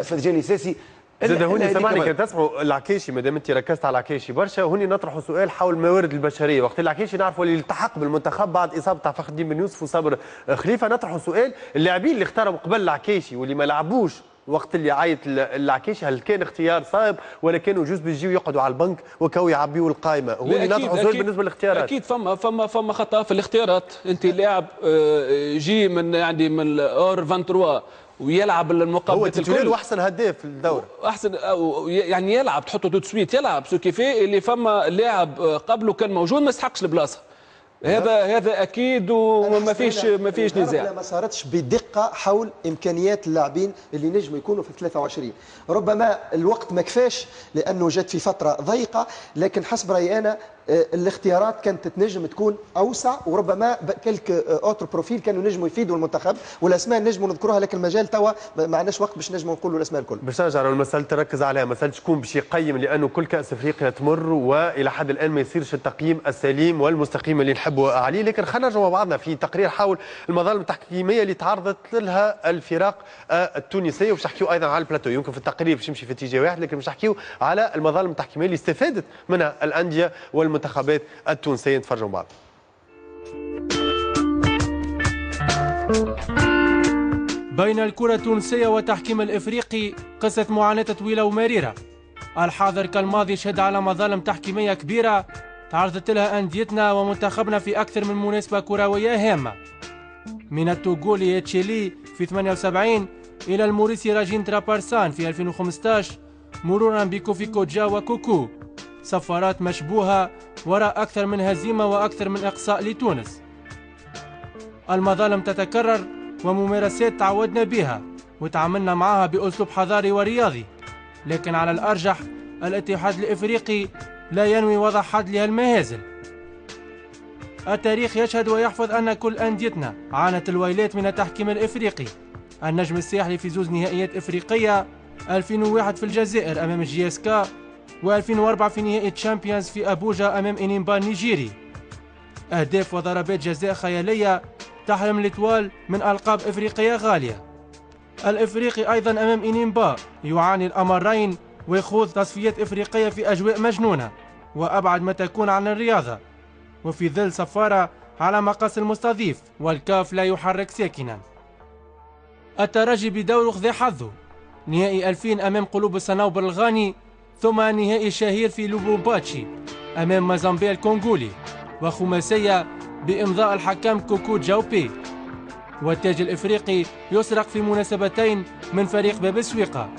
فرجاني ساسي. زاد هوني سامحني كان تسمعوا العكيشي، ما دام انت ركزت على العكيشي برشا، هوني نطرحوا سؤال حول الموارد البشرية. وقت العكيشي نعرفوا اللي التحق بالمنتخب بعد اصابه تاع فخر الدين بن يوسف وصابر خليفة، نطرحوا سؤال اللاعبين اللي اختاروا قبل العكيشي واللي ما لعبوش وقت اللي عيط العكيشي، هل كان اختيار صائب ولا كانوا juste باش يجيو يقعدوا على البنك وكاو يعبيوا القائمة؟ هوني نطرحوا سؤال بالنسبة للاختيارات. اكيد فما فما فما خطا في الاختيارات. انت لاعب جي من يعني من hors ثلاثة وعشرين ويلعب المقابلات الكل، هو احسن هداف في الدورة، احسن يعني يلعب، تحطه tout de suite يلعب، ce qui fait اللي فما لاعب قبله كان موجود ما يستحقش البلاصة. هذا هذا اكيد وما فيش ما فيش نزاع. ما صارتش بدقة حول امكانيات اللاعبين اللي نجموا يكونوا في ثلاثة وعشرين، ربما الوقت ما كفاش لانه جات في فترة ضيقه، لكن حسب رايي انا الاختيارات كانت تنجم تكون اوسع، وربما quelques autres profils كانوا نجموا يفيدوا المنتخب، والاسماء نجموا نذكروها، لكن المجال توا ما عندناش وقت باش نجموا نقولوا الاسماء الكل. باش نرجع للمسالة تركز عليها، مسالة شكون باش يقيم، لانه كل كاس افريقيا تمر والى حد الان ما يصيرش التقييم السليم والمستقيم اللي نحب تحبوا عليه، لكن خلينا نرجعوا مع بعضنا في تقرير حول المظالم التحكيميه اللي تعرضت لها الفرق التونسية، وباش نحكيو ايضا على البلاتو. يمكن في التقرير باش يمشي في اتجاه واحد، لكن باش نحكيو على المظالم التحكيميه اللي استفادت منها الاندية والمنتخبات التونسية. نتفرجوا مع بعض. بين الكرة التونسية والتحكيم الإفريقي قصة معاناة طويلة ومريرة. الحاضر كالماضي شهد على مظالم تحكيمية كبيرة تعرضت لها أنديتنا ومنتخبنا في أكثر من مناسبة كروية هامة، من التوغولي تشيلي في ثمانية وسبعين إلى الموريسي راجيندرا بارسان في ألفين وخمسة عشر، مرورا بكوفي كوجا وكوكو. صفارات مشبوهة وراء أكثر من هزيمة وأكثر من إقصاء لتونس. المظالم تتكرر وممارسات تعودنا بها وتعاملنا معها بأسلوب حضاري ورياضي، لكن على الأرجح الاتحاد الإفريقي لا ينوي وضع حد لهالمهازل. التاريخ يشهد ويحفظ أن كل أنديتنا عانت الويلات من التحكيم الإفريقي. النجم الساحلي في زوز نهائيات إفريقية، ألفين وواحد في الجزائر أمام جي اس كا، وألفين وأربعة في نهائي تشامبيونز في أبوجا أمام إنيمبا النيجيري. أهداف وضربات جزاء خيالية تحرم l'Étoile من ألقاب إفريقية غالية. الإفريقي أيضا أمام إنيمبا يعاني الأمرين ويخوض تصفيات إفريقية في أجواء مجنونة وأبعد ما تكون عن الرياضة، وفي ظل صفارة على مقاس المستضيف والكاف لا يحرك ساكنا. الترجي بدوره خذ حظه، نهائي ألفين أمام قلوب الصنوبر الغاني، ثم نهائي شهير في لوبومباتشي أمام مازامبي الكونغولي، وخماسية بإمضاء الحكم كوكو جاوبي. والتاج الإفريقي يسرق في مناسبتين من فريق باب السويقة.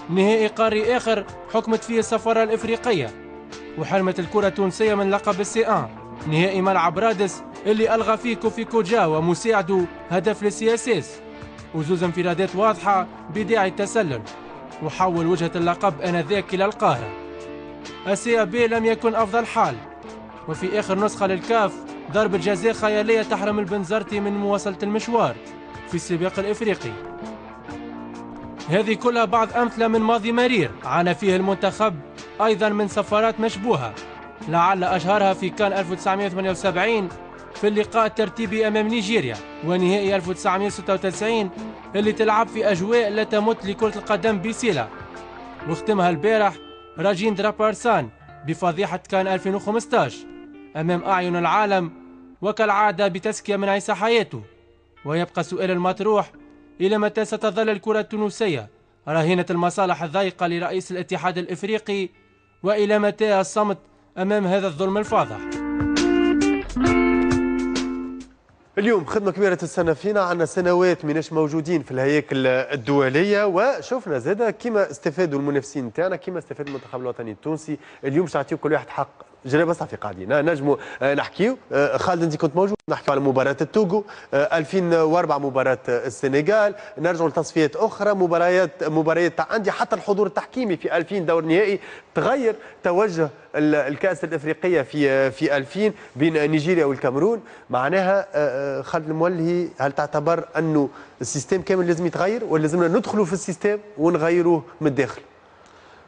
نهائي قاري آخر حكمت فيه السفارة الإفريقية وحرمت الكرة التونسية من لقب ال سي أن، نهائي ملعب رادس اللي ألغى فيه كوفي كوجا ومساعدة هدف لل CSS وزوز انفرادات واضحة بداعي التسلل، وحول وجهة اللقب آنذاك إلى القاهرة. ال CAB لم يكن أفضل حال، وفي آخر نسخة للكاف ضربة جزاء خيالية تحرم البنزرتي من مواصلة المشوار في السباق الإفريقي. هذه كلها بعض أمثلة من ماضي مرير عانى فيه المنتخب أيضا من سفرات مشبوهة، لعل أشهرها في كان ألف وتسعمائة وثمانية وسبعين في اللقاء الترتيبي أمام نيجيريا، ونهائي ألف وتسعمائة وستة وتسعين اللي تلعب في أجواء لا تمت لكرة القدم بسلة، واختمها البارح راجيندرا بارسان بفضيحة كان ألفين وخمسة عشر أمام أعين العالم، وكالعادة بتزكية من عيسى حياته. ويبقى السؤال المطروح: إلى متى ستظل الكرة التونسية رهينة المصالح الضيقة لرئيس الاتحاد الإفريقي؟ وإلى متى الصمت أمام هذا الظلم الفاضح؟ اليوم خدمة كبيرة تستنى فينا، عندنا سنوات ماناش موجودين في الهياكل الدولية، وشفنا زادة كيما استفادوا المنافسين تاعنا كيما استفاد المنتخب الوطني التونسي. اليوم باش نعطيو كل واحد حق جرابة صافي قاعدين نجموا نحكيو. خالد انت كنت موجود، نحكيو على مباراة التوغو ألفين وأربعة، مباراة السنغال، نرجعوا لتصفيات اخرى، مباريات مباريات تاع عندي، حتى الحضور التحكيمي في ألفين دور نهائي تغير توجه الكأس الافريقية في في ألفين بين نيجيريا والكاميرون. معناها خالد المولهي، هل تعتبر انه ال système كامل لازم يتغير ولا لازمنا ندخلوا في ال système ونغيروه من الداخل؟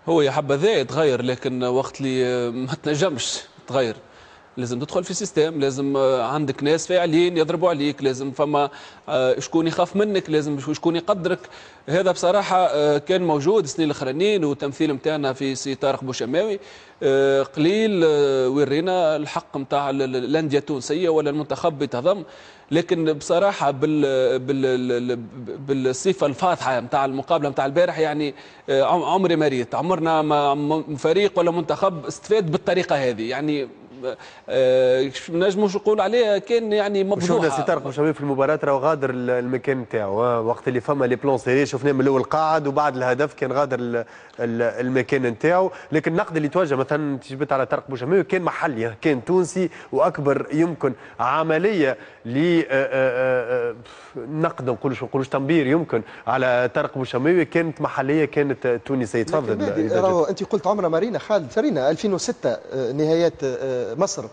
هو يا حبذا يتغير، لكن وقت اللي ما تنجمش تغير لازم تدخل في système، لازم عندك ناس فاعلين يضربوا عليك، لازم فما شكون يخاف منك، لازم شكون يقدرك. هذا بصراحة كان موجود السنين الاخرانيين، والتمثيل نتاعنا في سي طارق بوشماوي قليل ورينا الحق نتاع الاندية التونسية ولا المنتخب يتهضم، لكن بصراحة بال بال بالصفة الفاضحة نتاع المقابلة نتاع البارح، يعني عمري ما ريت، عمرنا ما فريق ولا منتخب استفاد بالطريقة هذه، يعني نجموش نقول عليه كان يعني مفضوحه. شفنا سي طارق بوشماوي في المباراة راهو غادر المكان نتاعو وقت اللي فما les plans serrés، شفناه من الاول قاعد وبعد الهدف كان غادر المكان نتاعو. لكن النقد اللي توجه مثلا تجبت على طارق بوشماوي كان محلي، كان تونسي، واكبر يمكن عملية ل نقد نقولوش نقولوش تنبير يمكن على طارق بوشماوي كانت محليه، كانت تونسية. تفضل. انت قلت عمره مارينا خالد، فرينا ألفين وستة نهايات مصر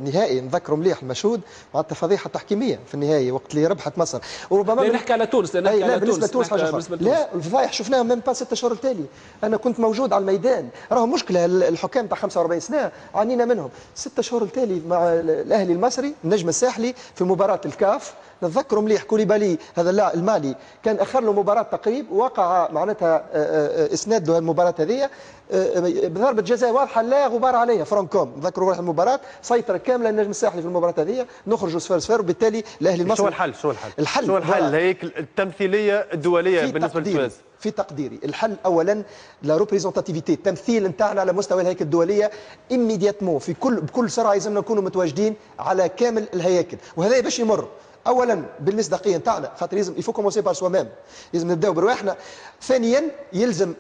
نهائي نذكروا مليح المشهود، معناتها فضيحة تحكيميه في النهائي وقت اللي ربحت مصر. وربما لا نحكي على تونس، لا نحكي على بالنسبة لتونس حاجة اخرى. لا الفضايح شفناها même pas ستة شهور التالي، انا كنت موجود على الميدان، راهو مشكلة الحكام تاع خمسة وأربعين سنة عانينا منهم. ستة شهور التالي مع الاهلي المصري النجم الساحلي في مباراة الكاف، نتذكروا مليح كوليبالي هذا اللاعب المالي كان اخر له مباراة تقريب، وقع معناتها اسناد له المباراة هذه بضربه جزاء واضحة لا غبار عليها فرانكوم. نذكروا روح المباراة سيطرة كاملة النجم الساحلي في المباراة هذه، نخرجوا صفر صفر، وبالتالي الاهلي المصري. شو الحل؟ شو الحل؟ الحل شو الحل؟ هيك التمثيلية الدولية بالنسبة لتونس. في تقديري الحل اولا la représentativité، التمثيل نتاعنا على مستوى الهياكل الدولية immédiatement، في كل بكل سرعة لازمنا نكونوا متواجدين على كامل الهياكل، وهذا باش يمر اولا بالمصداقيه نتاعنا، خاطر لازم il faut commencer par soi-même، لازم نبداو برواحنا. ثانيا يلزم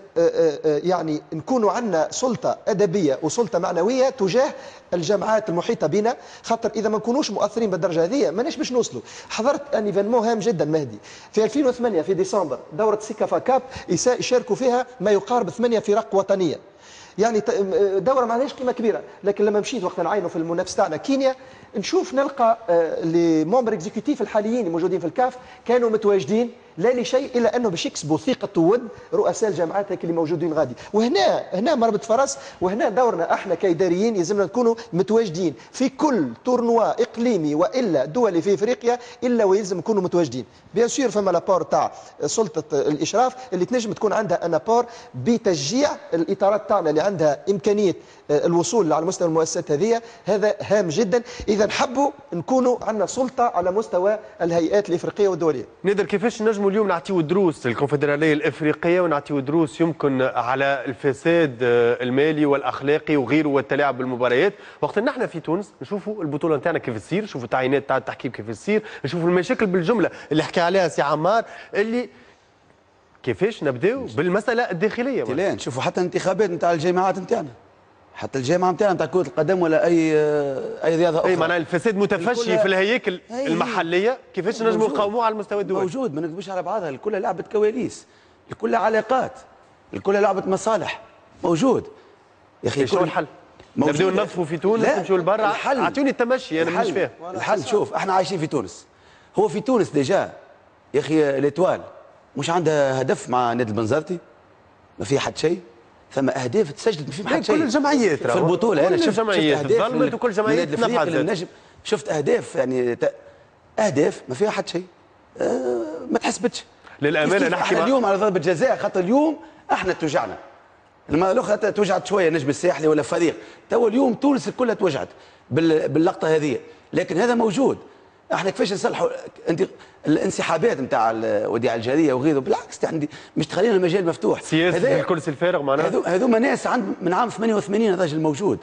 يعني نكونوا عندنا سلطة ادبية وسلطة معنوية تجاه الجامعات المحيطة بنا، خاطر اذا ما نكونوش مؤثرين بالدرجة هذه ماناش باش نوصلوا. حضرت un événement هام جدا مهدي في ألفين وثمانية في ديسمبر، دوره سيكافا كاب يشاركوا فيها ما يقارب ثمانية فرق وطنية، يعني دوره ما عندهاش قيمة كبيرة، لكن لما مشيت وقت نعاينوا في المنافس تاعنا كينيا نشوف نلقى les membres exécutifs الحاليين الموجودين في الكاف كانوا متواجدين لا لشيء الا انه باش يكسبوا ثقة وود رؤساء الجامعات هيك اللي موجودين غادي. وهنا هنا مربط فرس، وهنا دورنا احنا كاداريين يلزمنا نكونوا متواجدين في كل tournoi اقليمي والا دولي في افريقيا، الا ويلزم نكونوا متواجدين. bien sûr فما l'apport تاع سلطة الاشراف اللي تنجم تكون عندها un apport بتشجيع الاطارات تاعنا اللي عندها امكانية الوصول على مستوى المؤسسات هذه، هذا هام جدا. اذا نحبوا نكونوا عندنا سلطة على مستوى الهيئات الافريقية والدولية. نقدر كيفاش نجموا اليوم نعطيو دروس للكونفدراليه الافريقية ونعطيو دروس يمكن على الفساد المالي والاخلاقي وغيره والتلاعب بالمباريات، وقت نحن في تونس نشوفوا البطولة نتاعنا كيف تصير، نشوفوا التعيينات تاع التحكيم كيف تصير، نشوفوا المشاكل بالجملة اللي حكى عليها سي عمار، اللي كيفاش نبداو بالمسالة الداخلية. لا نشوفوا حتى الانتخابات نتاع الجامعات نتاعنا، حتى الجامعة نتاعنا نتاع كره القدم ولا اي اي رياضة اخرى. اي معناها الفساد متفشي في الهياكل المحلية، كيفاش نجموا نقاوموه على المستوى الدولي؟ موجود، ما نكذبوش على بعضها، الكل لعبه كواليس، الكل علاقات، الكل لعبه مصالح، موجود. يا اخي شنو الحل؟ نبداو ننظفوا في تونس، نمشيو لبرا؟ اعطوني التمشي انا مانيش فاهم. الحل شوف، احنا عايشين في تونس، هو في تونس déjà يا اخي l'Étoile مش عندها هدف مع نادي البنزرتي، ما في حد شيء، ثم اهداف تسجلت ما في حد شيء. كل الجمعيات في البطولة انا شفت الجمعيات تظلمت وكل الجمعيات تنفعت. النجم شفت اهداف يعني اهداف ما فيها حد شيء، أه ما تحسبتش. للامانة نحكي اليوم على ضربه جزاء، خاطر اليوم احنا توجعنا، المرة الاخرى توجعت شوية نجم الساحلي ولا فريق، تو اليوم تونس كلها توجعت باللقطه هذه، لكن هذا موجود. احنا كيفاش نصلحوا انت الانسحابات نتاع وديع الجارية وغيره؟ بالعكس يعني مش تخلينا المجال مفتوح. سياسة الكرسي الفارغ معناها. هذوما ناس عند من عام ثمانية وثمانين الراجل موجود،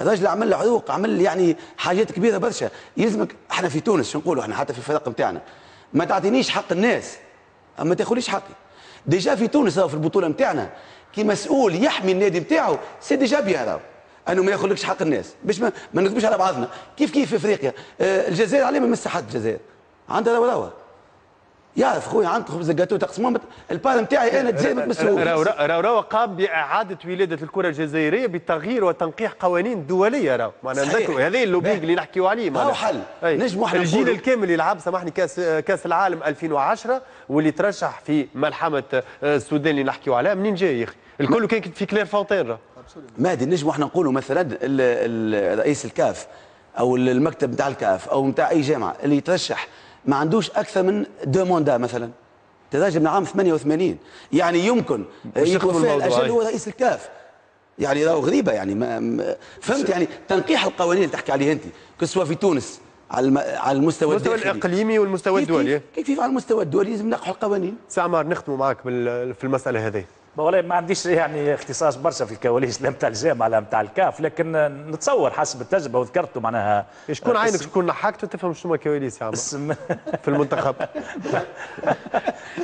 الراجل عمل عروق، عمل يعني حاجات كبيرة برشا. يلزمك احنا في تونس شو نقولوا احنا حتى في الفرق نتاعنا، ما تعطينيش حق الناس ما تاخذليش حقي. déjà في تونس في البطولة نتاعنا كي مسؤول يحمي النادي نتاعو c'est déjà bien راهو انه ما ياخذلكش حق الناس، باش ما, ما نكذبوش على بعضنا. كيف كيف في افريقيا آه الجزائر عليه ما مسحت الجزائر عندها روراوه، يعرف خويا عندك خبز الجاتو تقسموه، ال part نتاعي انا الجزائر ما تمسوهوش. روراوه قام باعادة ولاده الكره الجزائرية بتغيير وتنقيح قوانين دولية، راهو معناها نذكروا هذا ال lobbying اللي نحكيو عليه. هاو حل نجموا احنا الجيل الكامل اللي لعب سامحني كاس كاس العالم ألفين وعشرة واللي ترشح في ملحمة السودان اللي نحكيو عليها، منين جاي يا اخي؟ الكل كان في كلير فونتين. مهدي نجموا احنا نقولوا مثلا رئيس الكاف او المكتب نتاع الكاف او نتاع اي جامعه اللي يترشح ما عندوش اكثر من deux mandats مثلا، تراجع من عام ثمانية وثمانين، يعني يمكن يتوفى الاجل هو رئيس الكاف، يعني راهو غريبة يعني ما فهمت. يعني تنقيح القوانين اللي تحكي عليه انت que ce soit في تونس على على المستوى المستوى الاقليمي والمستوى الدولي، كيف كيف على المستوى الدولي لازم نقحوا القوانين. سي عمار نختموا معك في المسالة هذه. والله ما عنديش يعني اختصاص برشا في الكواليس لا نتاع الجامعة لا نتاع الكاف، لكن نتصور حسب التجربة وذكرته معناها شكون عينك شكون نحكت وتفهم شنو الكواليس يا عمار في المنتخب.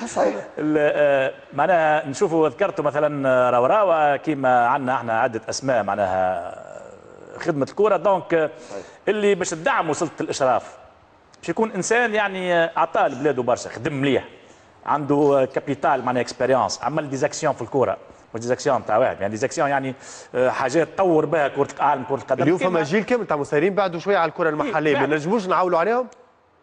صحيح معناها نشوفوا ذكرته مثلا روراوه، كيما عندنا احنا عده اسماء معناها خدمة الكورة، donc اللي باش تدعموا سلطة الاشراف باش يكون انسان يعني اعطاه لبلاده برشا، خدم مليح، عنده capital معناها expérience، عمل des actions في الكورة، مش des actions تاع واحد، يعني des actions يعني حاجات طور بها كره عالم كره القدم. اليوم فما جيل كامل تاع مسيرين بعدوا شوية على الكره المحلية، ما نجموش نعاولوا عليهم.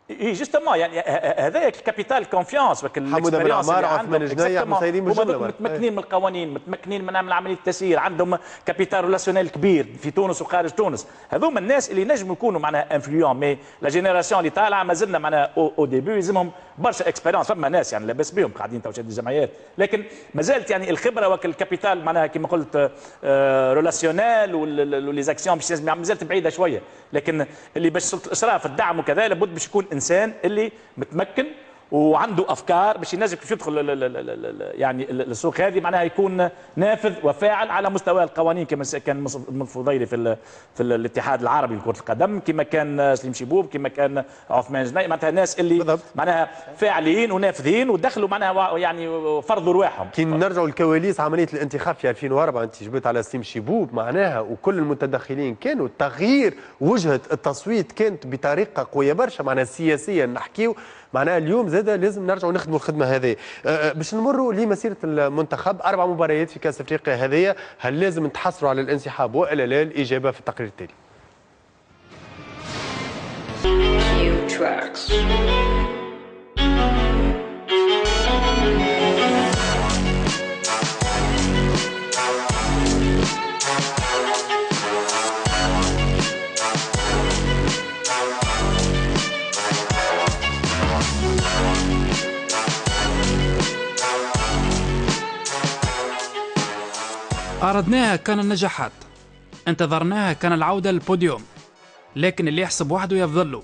اي justement يعني هذاك ال capital confiance حموده بن عمار، عثمان جنيح، مسيرين بالجملة متمكنين من القوانين، متمكنين من عملية التسيير، عندهم capital relationnel كبير في تونس وخارج تونس. هذوما الناس اللي نجموا يكونوا معناها influents، mais la génération اللي طالعه مازلنا معناها au début يلزمهم برشا expérience. فما ناس يعني لاباس بهم قاعدين تو شاد الجمعيات، لكن مازالت يعني الخبرة وال capital معناها كما قلت relationnel و les actions باش مازالت بعيدة شوية. لكن اللي باش سلطة الاشراف الدعم وكذا لابد باش يكون انسان اللي متمكن وعنده افكار باش ينجم كيف يدخل يعني السوق هذه، معناها يكون نافذ وفاعل على مستوى القوانين كما كان الفضيلي في في الاتحاد العربي لكرة القدم، كما كان سليم شيبوب، كما كان عثمان جناي، معناتها الناس اللي بالضبط. معناها فاعلين ونافذين ودخلوا معناها يعني فرضوا رواحهم. كي نرجعوا لكواليس عملية الانتخاب في ألفين وأربعة، انت جبت على سليم شيبوب معناها وكل المتدخلين كانوا تغيير وجهه التصويت كانت بطريقة قوية برشا معناها سياسيا نحكيو. معناها اليوم زاد لازم نرجعوا نخدموا الخدمة هذه. أه باش نمروا لمسيره المنتخب، اربع مباريات في كاس افريقيا هذه، هل لازم نتحسروا على الانسحاب والا لا؟ الاجابة في التقرير التالي. أردناها كان النجاحات، انتظرناها كان العودة للبوديوم، لكن اللي يحسب وحده يفضله.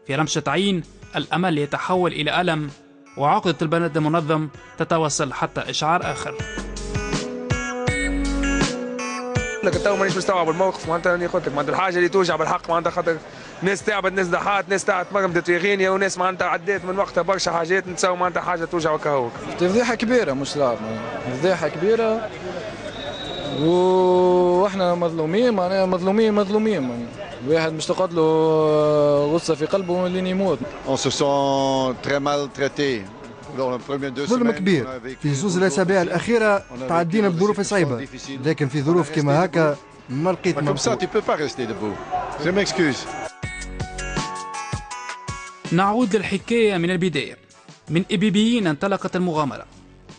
في رمشة عين الأمل يتحول إلى ألم، وعقدة البلد المنظم تتواصل حتى إشعار آخر. لك تو مانيش مستوعب الموقف، معناتها راني قلت لك معناتها الحاجة اللي توجع بالحق، معناتها خاطر ناس تعبت، ناس ضحات، ناس تعبت مرمدت في غينيا، وناس معناتها عدات من وقتها برشا حاجات، نتساو معناتها حاجة توجع وكهوك. فضيحة كبيرة مش لعب، فضيحة كبيرة واحنا مظلومين، معناها مظلومين مظلومين، معناها الواحد مش تقعد له غصة في قلبه لين يموت. On se sent très mal traité. ظلم كبير في زوز الاسابيع الاخيرة، تعدينا بظروف صعيبة، لكن في ظروف كما هكا ما لقيت ما. نعود للحكايه من البداية. من إبيبيين انطلقت المغامرة،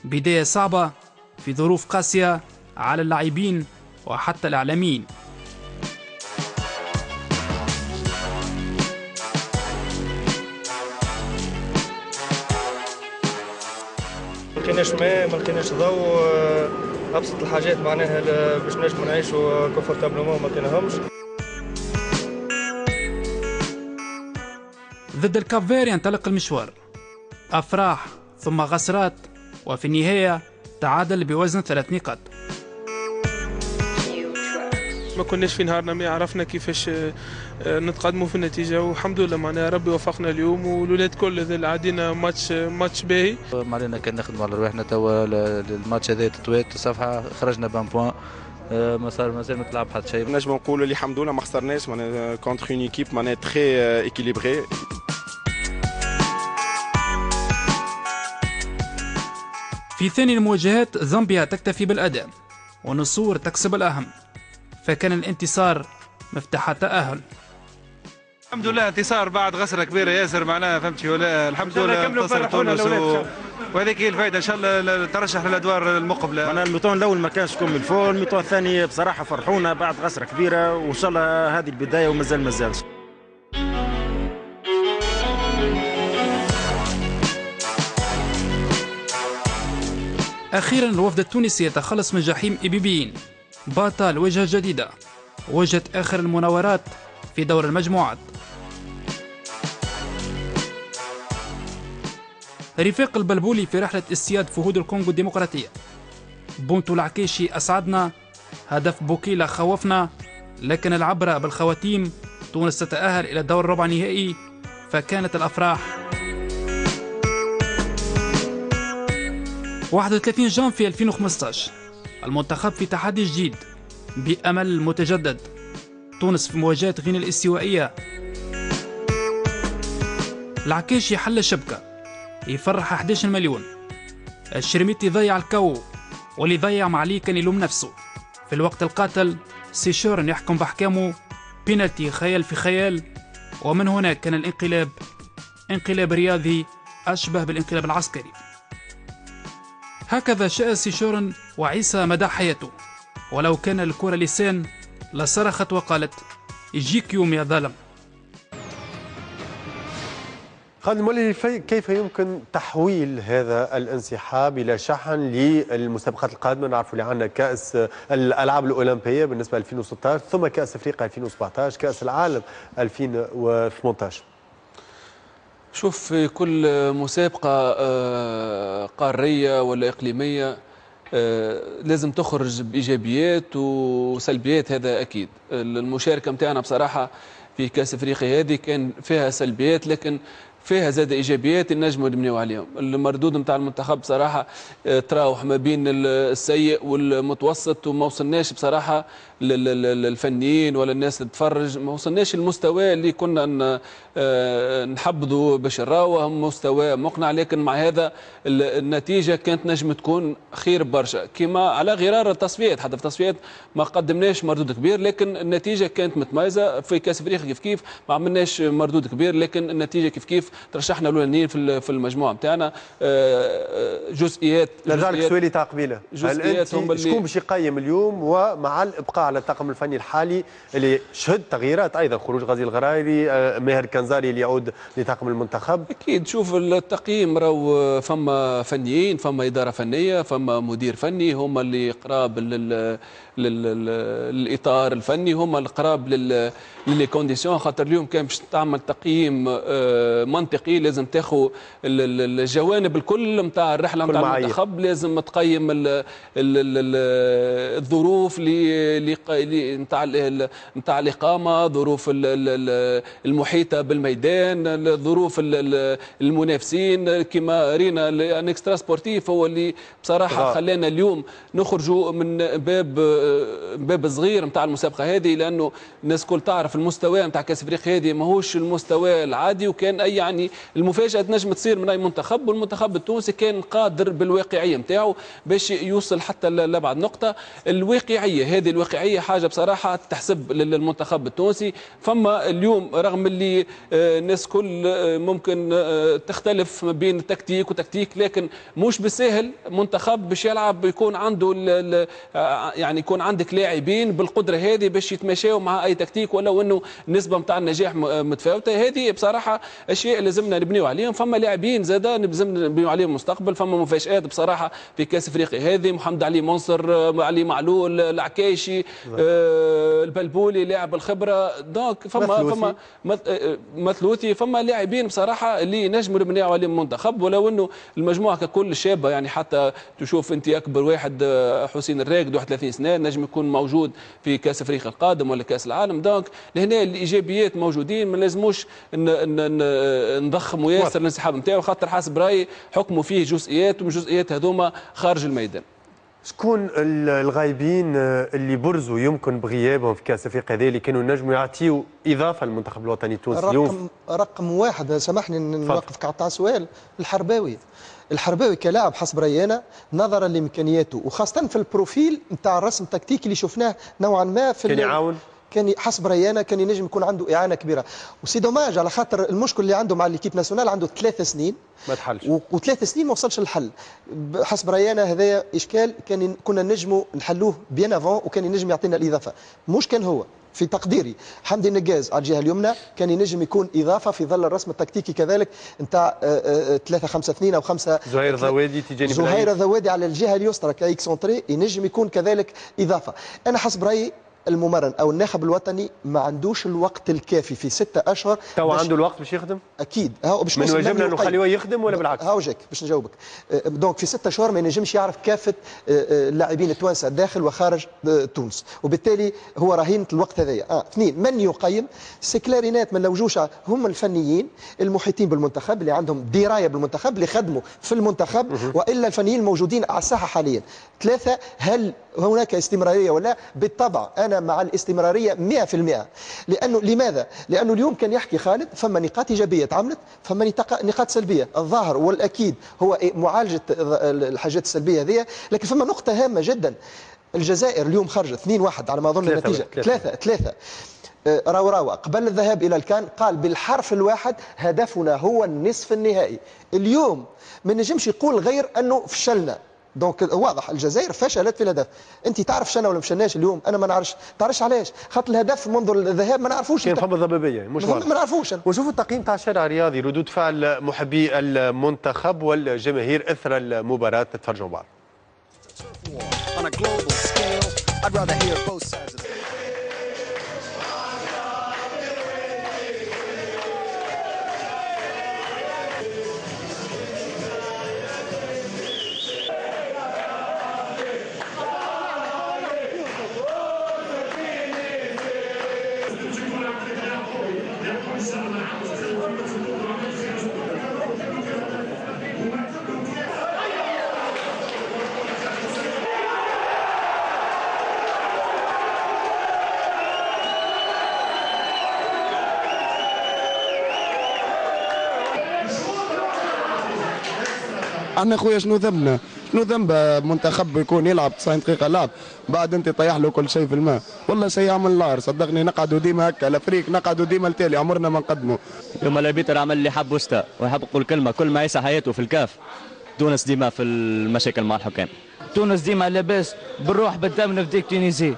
بداية صعبة في ظروف قاسية على اللاعبين وحتى الإعلاميين. ما لقيناش ماء، ما لقيناش ضوء، أبسط الحاجات معناها باش نجموا نعيشوا confortablement ما لقيناهمش. ضد الكاب ينطلق المشوار، أفراح ثم غسرات، وفي النهاية تعادل بوزن ثلاث نقاط. ما كناش في نهارنا، ما عرفنا كيفاش نتقدموا في النتيجة، والحمد لله معناها ربي وفقنا اليوم، والولاد كل اللي عدينا match match باهي. ما علينا كان نخدموا على رواحنا توا، الماتش هذا تطويت صفحة، خرجنا ب un point، ما صار مازال ما تلعب حتى شيء. نجم نقولوا اللي الحمد لله ما خسرناش معناها contre une équipe معناها très équilibrée. في ثاني المواجهات زامبيا تكتفي بالأداء ونصور تكسب الأهم، فكان الانتصار مفتاح التأهل. الحمد لله انتصار بعد غسرة كبيرة ياسر معناها فهمتي ولا، الحمد لله انتصر تونس و... وهذيك هي الفائدة ان شاء الله الترشح للادوار المقبلة. معناها ال mi-temps الاول ما كانش comme il faut، ال mi-temps الثاني بصراحة فرحونا بعد غسرة كبيرة، وان شاء الله هذه البداية ومازال مازال. أخيرا الوفد التونسي يتخلص من جحيم إبيبيين، بطل وجهة جديدة، وجهة آخر المناورات في دور المجموعات. رفاق البلبولي في رحلة اصطياد فهود الكونغو الديمقراطية. بونتو العكيشي أسعدنا، هدف بوكيلا خوفنا، لكن العبرة بالخواتيم، تونس تتأهل إلى الدور الربع نهائي، فكانت الأفراح. واحد وثلاثين جانفي ألفين وخمسطاش المنتخب في تحدي جديد بأمل متجدد، تونس في مواجهة غينيا الاستوائية. العكاشي حل الشبكة، يفرح أحد عشر مليون. الشرميتي ضيع الكو، واللي ضيع ما عليه كان يلوم نفسه. في الوقت القاتل سيشورن يحكم بأحكامه، بينالتي خيال في خيال، ومن هنا كان الانقلاب، انقلاب رياضي أشبه بالانقلاب العسكري. هكذا شاء سيشورن وعيسى مدى حياته، ولو كان الكرة لسان لصرخت وقالت يجيك يوم يا ظالم. خالد المولي، كيف يمكن تحويل هذا الانسحاب إلى شحن للمسابقات القادمة؟ نعرف اللي عندنا كأس الألعاب الأولمبية بالنسبة ألفين وستة عشر، ثم كأس أفريقيا ألفين وسبعة عشر، كأس العالم ألفين وثمانية عشر. شوف، في كل مسابقة قارية ولا إقليمية لازم تخرج بإيجابيات وسلبيات، هذا أكيد. المشاركة متاعنا بصراحة في كأس أفريقيا هذه كان فيها سلبيات، لكن فيها زاد ايجابيات نجموا نبنيو عليهم. المردود نتاع المنتخب بصراحة تراوح ما بين السيء والمتوسط، وما وصلناش بصراحة للفنيين ولا الناس اللي تتفرج، ما وصلناش المستوى اللي كنا نحبذوا باش نراوه، مستوى مقنع. لكن مع هذا النتيجة كانت نجم تكون خير برشا، كما على غرار التصفيات، حتى في التصفيات ما قدمناش مردود كبير لكن النتيجة كانت متميزة. في كاس افريقيا كيف كيف ما عملناش مردود كبير لكن النتيجة كيف كيف ترشحنا الاولانيين في في المجموعة نتاعنا. جزئيات، نرجع لك سؤالي تاع قبيلة، جزئيات هم اللي شكون باش يقيم اليوم ومع الابقاء على الطاقم الفني الحالي اللي شهد تغييرات ايضا، خروج غازي الغرايري، ماهر كنزاري اللي يعود لطاقم المنتخب. اكيد شوف التقييم، راهو فما فنيين، فما ادارة فنية، فما مدير فني، هما اللي قراب لل للاطار الفني، هما القراب لل les conditions. خاطر اليوم كان باش تعمل تقييم منطقي لازم تاخذ الجوانب الكل نتاع الرحلة نتاع المنتخب، لازم تقيم الظروف اللي نتاع نتاع الاقامة، ظروف المحيطة بالميدان، الظروف المنافسين. كما رينا un extra sportif هو اللي بصراحة خلانا اليوم نخرجوا من باب باب صغير نتاع المسابقة هذه، لانه الناس الكل تعرف المستوى نتاع كاس افريقيا هذه ماهوش المستوى العادي، وكان اي يعني المفاجاة تنجم تصير من اي منتخب، والمنتخب التونسي كان قادر بالواقعيه نتاعو باش يوصل حتى لابعد نقطة. الواقعية هذه الواقعية حاجة بصراحة تحسب للمنتخب التونسي. فما اليوم رغم اللي الناس كل ممكن تختلف ما بين تكتيك وتكتيك، لكن مش بالساهل منتخب باش يلعب يكون عنده يعني يكون عندك لاعبين بالقدرة هذه باش يتماشاو مع اي تكتيك، ولو انه النسبة نتاع النجاح متفاوتة. هذه بصراحة اشياء لازمنا نبنيو عليهم. فما لاعبين زاده لازمنا نبنيو عليهم المستقبل. فما مفاجات بصراحة في كاس افريقيا هذه، محمد علي منصر، علي معلول، العكايشي، آه البلبولي لاعب الخبرة، donc فما فما مثلوثي، فما لاعبين بصراحة اللي نجموا نبنيو عليهم المنتخب، ولو انه المجموعة ككل شابه. يعني حتى تشوف انت اكبر واحد حسين الراقد واحد وثلاثين سنة نجم يكون موجود في كاس افريقيا القادم ولا كاس العالم. donc لهنا الايجابيات موجودين، ما لازموش نضخموا ياسر الانسحاب نتاعو، خاطر حسب رايي حكموا فيه جزئيات، والجزئيات هذوما خارج الميدان. شكون الغايبين اللي برزوا يمكن بغيابهم في كاس افريقيا هذه اللي كانوا نجموا يعطيوا اضافه للمنتخب الوطني التونسي اليوم؟ رقم رقم واحد، سامحني نوقفك على السؤال، الحرباوي. الحرباوي كلاعب حسب رأيي نظرا لامكانياته وخاصة في ال profil نتاع الرسم التكتيكي اللي شفناه نوعا ما في كان يعاون، كان حسب رأيي كان ينجم يكون عنده اعانه كبيرة. و c'est dommage على خاطر المشكل اللي عنده مع l'équipe nationale، عنده ثلاث سنين ما تحلش، وثلاث سنين ما وصلش للحل. حسب رأيي هذا اشكال كان كنا نجموا نحلوه bien avant، وكان ينجم يعطينا الاضافة. مش كان هو في تقديري حمدي النقاز على الجهة اليمنى كان ينجم يكون اضافه في ظل الرسم التكتيكي كذلك نتاع ثلاثة خمسة اثنين او خمسة. زهير ذوادي تجاني، زهير ذوادي على الجهة اليسرى ك excentré ينجم يكون كذلك اضافه. انا حسب رايي الممرن او الناخب الوطني ما عندوش الوقت الكافي في ستة اشهر. تو عنده الوقت باش يخدم؟ اكيد. هاو باش من واجبنا نخليه يخدم ولا بالعكس؟ هاو جاك باش نجاوبك. donc في ستة اشهر ما ينجمش يعرف كافة اللاعبين التوانسة داخل وخارج تونس، وبالتالي هو رهينة الوقت هذايا. اه اثنين، من يقيم؟ c'est clair et net ما نلوجوش، هم الفنيين المحيطين بالمنتخب اللي عندهم دراية بالمنتخب اللي خدموا في المنتخب، والا الفنيين الموجودين على الساحة حاليا. ثلاثة، هل هناك استمرارية ولا؟ بالطبع انا انا مع الاستمرارية مئة بالمئة. لانه لماذا؟ لانه اليوم كان يحكي خالد فما نقاط ايجابية تعملت، فما نقاط سلبية، الظاهر والاكيد هو معالجة الحاجات السلبية هذه، لكن فما نقطة هامة جدا. الجزائر اليوم خرجت اثنين واحد على ما اظن النتيجة، ثلاثة ثلاثة. راوراوة قبل الذهاب إلى الكان قال بالحرف الواحد هدفنا هو النصف النهائي. اليوم ما نجمش يقول غير أنه فشلنا. donc واضح الجزائر فشلت في الهدف. انت تعرف شنا ولا مشناش اليوم؟ انا ما نعرفش. تعرفش علاش؟ خاطر الهدف منذ الذهاب ما نعرفوش. كان فما ضبابية مش واضح، ما نعرفوش. ونشوفوا التقييم تاع الشارع الرياضي، ردود فعل محبي المنتخب والجماهير اثر المباراة. تتفرجوا بعض. احنا خويا شنو ذنبنا؟ شنو ذنب منتخب يكون يلعب تسعين دقيقة لعب بعد انت طيح له كل شيء في الماء؟ والله شيء يعمل العار صدقني. نقعدوا ديما هكا l'Afrique، نقعدوا ديما التالي، عمرنا ما نقدموا. يوم ال arbitre عمل اللي حب وستا، ويحب نقول كلمة، كل ما عيسى حياته في الكاف تونس ديما في المشاكل مع الحكام. تونس ديما لاباس بالروح بالدم نفديك Tunisie.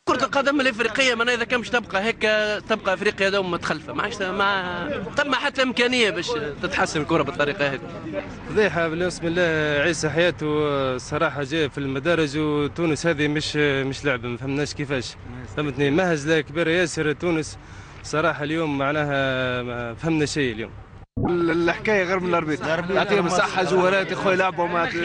كرة القدم الافريقية ما اذا كان مش تبقى هيك تبقى افريقيا دوم متخلفة، ما عادش ما تم حتى امكانية باش تتحسن الكرة بالطريقة هذه. فضيحة بسم الله. عيسى حياته الصراحة جاي في المدارج، وتونس هذه مش مش لعبة، ما فهمناش كيفاش، فهمتني؟ مهزلة كبيرة ياسر تونس صراحة اليوم، معناها ما فهمنا شيء اليوم. الحكاية غير من ال arbitre، يعطيهم الصحة جوارات يا خويا لعبوا مع في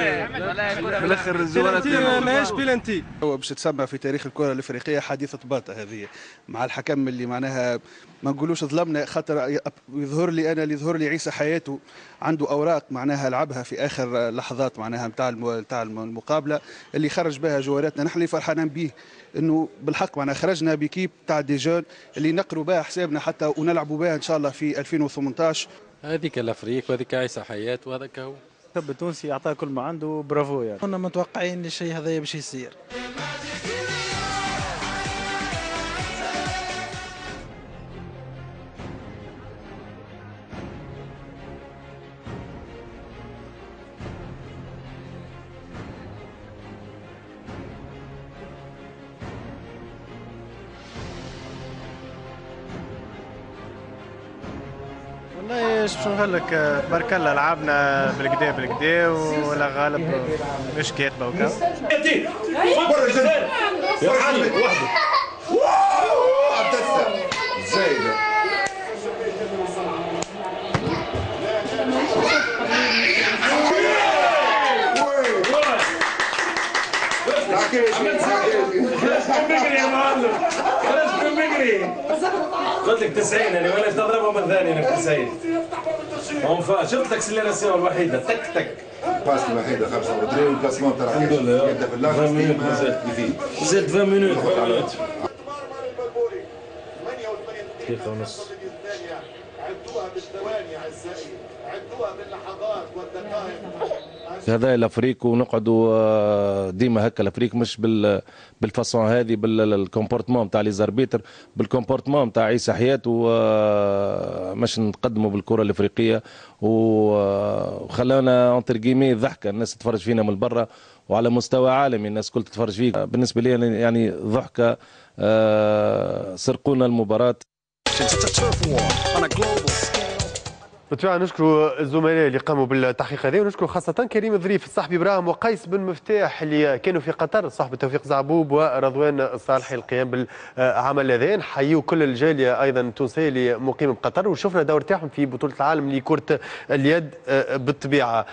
الاخر الجوارات ماهيش بيلانتي. هو باش تسمى في تاريخ الكره الافريقية حادثه باطه هذه مع الحكم اللي معناها ما نقولوش ظلمنا، خاطر يظهر لي انا اللي يظهر لي عيسى حياته عنده اوراق معناها لعبها في اخر لحظات معناها نتاع نتاع المقابلة اللي خرج بها جواراتنا. نحن اللي فرحانين به انه بالحق معناها خرجنا ب équipe تاع des jeunes اللي نقروا بها حسابنا حتى ونلعبوا بها ان شاء الله في ألفين وثمانية عشر. هذيك l'Afrique وهذيك عيسى حياة وهذاك هو. الشاب التونسي اعطاه كل ما عنده، برافو يعني. كنا متوقعين الشيء هذا باش يصير. والله ايش باش نقول لك، تبارك الله لعبنا بالكدا بالكدا ولا غالب مش كاتبه وكا. يا حبيبي وحده زايدة. قلت لك تسعين انا وانا تضربهم الثاني انا في تسعين. شفت l'accélération الوحيدة تك تك. ال passe الوحيدة خمسة وعشرين وال placement تاع الحمد لله يبدا في الاخر مازال مازال عشرين minutes. دقيقة ونص. هذا l'Afrique ونقعدوا ديما هكا. l'Afrique مش بال بال façon هذه، بال comportement تاع les arbitres، بال comportement تاع عيسى حياته، مش نقدموا بالكرة الافريقية وخلانا entre guillemets ضحكه، الناس تتفرج فينا من برا وعلى مستوى عالمي الناس كل تتفرج فيك. بالنسبة لي يعني ضحكه، سرقونا المباراة. بالطبيعة نشكر الزملاء اللي قاموا بالتحقيق هذا، ونشكر خاصة كريم الظريف، الصحبي ابراهيم وقيس بن مفتاح اللي كانوا في قطر، صاحب توفيق زعبوب ورضوان الصالحي القيام بالعمل هذا. نحيوا كل الجالية أيضا التونسية اللي مقيمة بقطر، وشفنا دور تاعهم في بطولة العالم لكرة اليد بالطبيعة.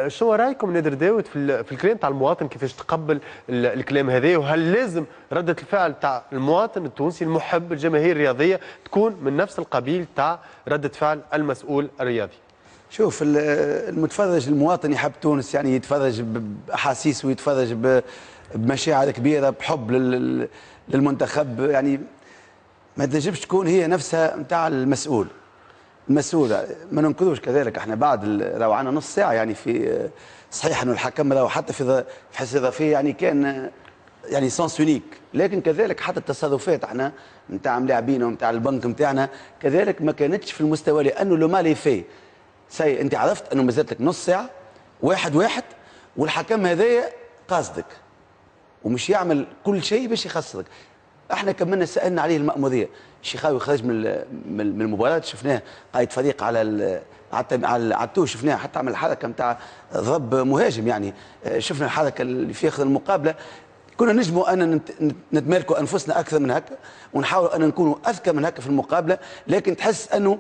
شنو رأيكم نادر داود في الكلام تاع المواطن، كيفاش تقبل الكلام هذا، وهل لازم ردة الفعل تاع المواطن التونسي المحب الجماهير الرياضية تكون من نفس القبيل تاع ردة فعل المسؤول الرياضي؟ شوف، المتفرج المواطن يحب تونس، يعني يتفرج باحاسيس ويتفرج بمشاعر كبيرة، بحب للمنتخب، يعني ما تنجمش تكون هي نفسها نتاع المسؤول. المسؤول ما ننكروش كذلك احنا بعد راهو عندنا نص ساعة يعني في صحيح انه الحكم راهو حتى في في حصة اضافية يعني كان يعني sens unique، لكن كذلك حتى التصرفات احنا نتاع ملاعبين ونتاع البنك نتاعنا كذلك ما كانتش في المستوى، لانه le mal est fait. ça y est انت عرفت انه مازالت لك نص ساعة واحد واحد، والحكم هذايا قاصدك ومش يعمل كل شيء باش يخسرك. احنا كملنا سالنا عليه المأموريه، الشيخاوي خرج من من المباراة، شفناه قائد فريق على على على ال touche، شفناه حتى عمل الحركة نتاع ضرب مهاجم، يعني شفنا الحركة اللي في اخر المقابلة. كنا نجموا ان نتمالكوا انفسنا اكثر من هكا ونحاولوا ان نكونوا اذكى من هكا في المقابلة، لكن تحس انه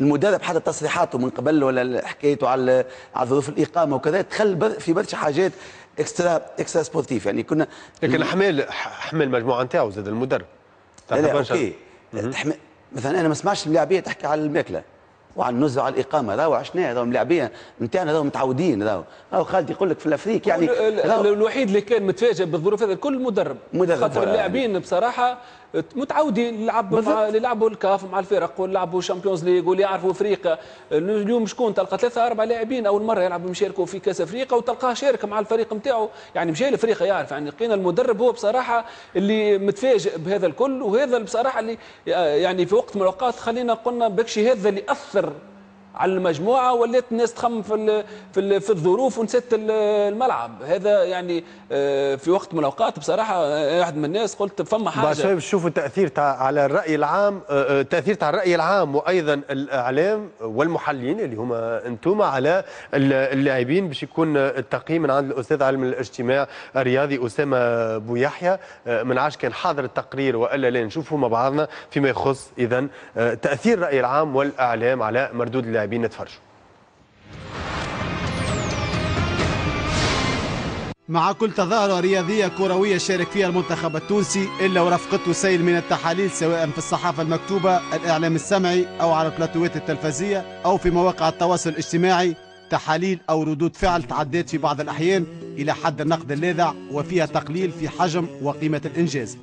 المدرب حتى تصريحاته من قبل ولا حكايته على على ظروف الاقامة وكذا دخل في برشا حاجات extra extra-sportives يعني كنا. لكن حمل حمل المجموعة نتاعو زاد المدرب. لا لا OK، تحمل مثلا انا ما سمعتش الملاعبيه تحكي على الماكلة وعلى النزهه وعلى الاقامة، راهو عشناها، راهو الملاعبيه نتاعنا راهو متعودين، راهو راهو خالد يقول لك في l'Afrique يعني الوحيد اللي كان متفاجئ بالظروف هذا الكل المدرب، مدرب خاطر اللاعبين بصراحة متعودين يلعبوا مع اللي يلعبوا الكاف مع الفرق واللي Champions League واللي يعرفوا افريقيا. اليوم شكون تلقى ثلاثة اربع لاعبين اول مرة يلعبوا يشاركوا في كاس افريقيا وتلقاه شارك مع الفريق نتاعو، يعني مشى لافريقيا يعرف. يعني لقينا المدرب هو بصراحة اللي متفاجئ بهذا الكل، وهذا بصراحة اللي يعني في وقت من الاوقات خلينا قلنا بكشي هذا اللي اثر على المجموعة، ولات الناس تخمم في في في الظروف ونسيت الملعب هذا. يعني في وقت من الاوقات بصراحة واحد من الناس قلت فما حاجة بعد شوي نشوفوا التاثير تاع على الراي العام، التاثير تاع الراي العام وايضا الاعلام والمحللين اللي هما انتم على اللاعبين، باش يكون التقييم من عند الاستاذ علم الاجتماع الرياضي اسامة بويحيى. من عاش كان حاضر التقرير والا لا، نشوفوا مع بعضنا فيما يخص اذا تاثير الراي العام والاعلام على مردود اللاعبين. نتفرجوا. مع كل تظاهرة رياضية كروية شارك فيها المنتخب التونسي إلا ورافقته سيل من التحاليل، سواء في الصحافة المكتوبة، الإعلام السمعي، أو على البلاتوات التلفزية، أو في مواقع التواصل الاجتماعي. تحاليل أو ردود فعل تعدت في بعض الأحيان إلى حد النقد اللاذع وفيها تقليل في حجم وقيمة الإنجاز.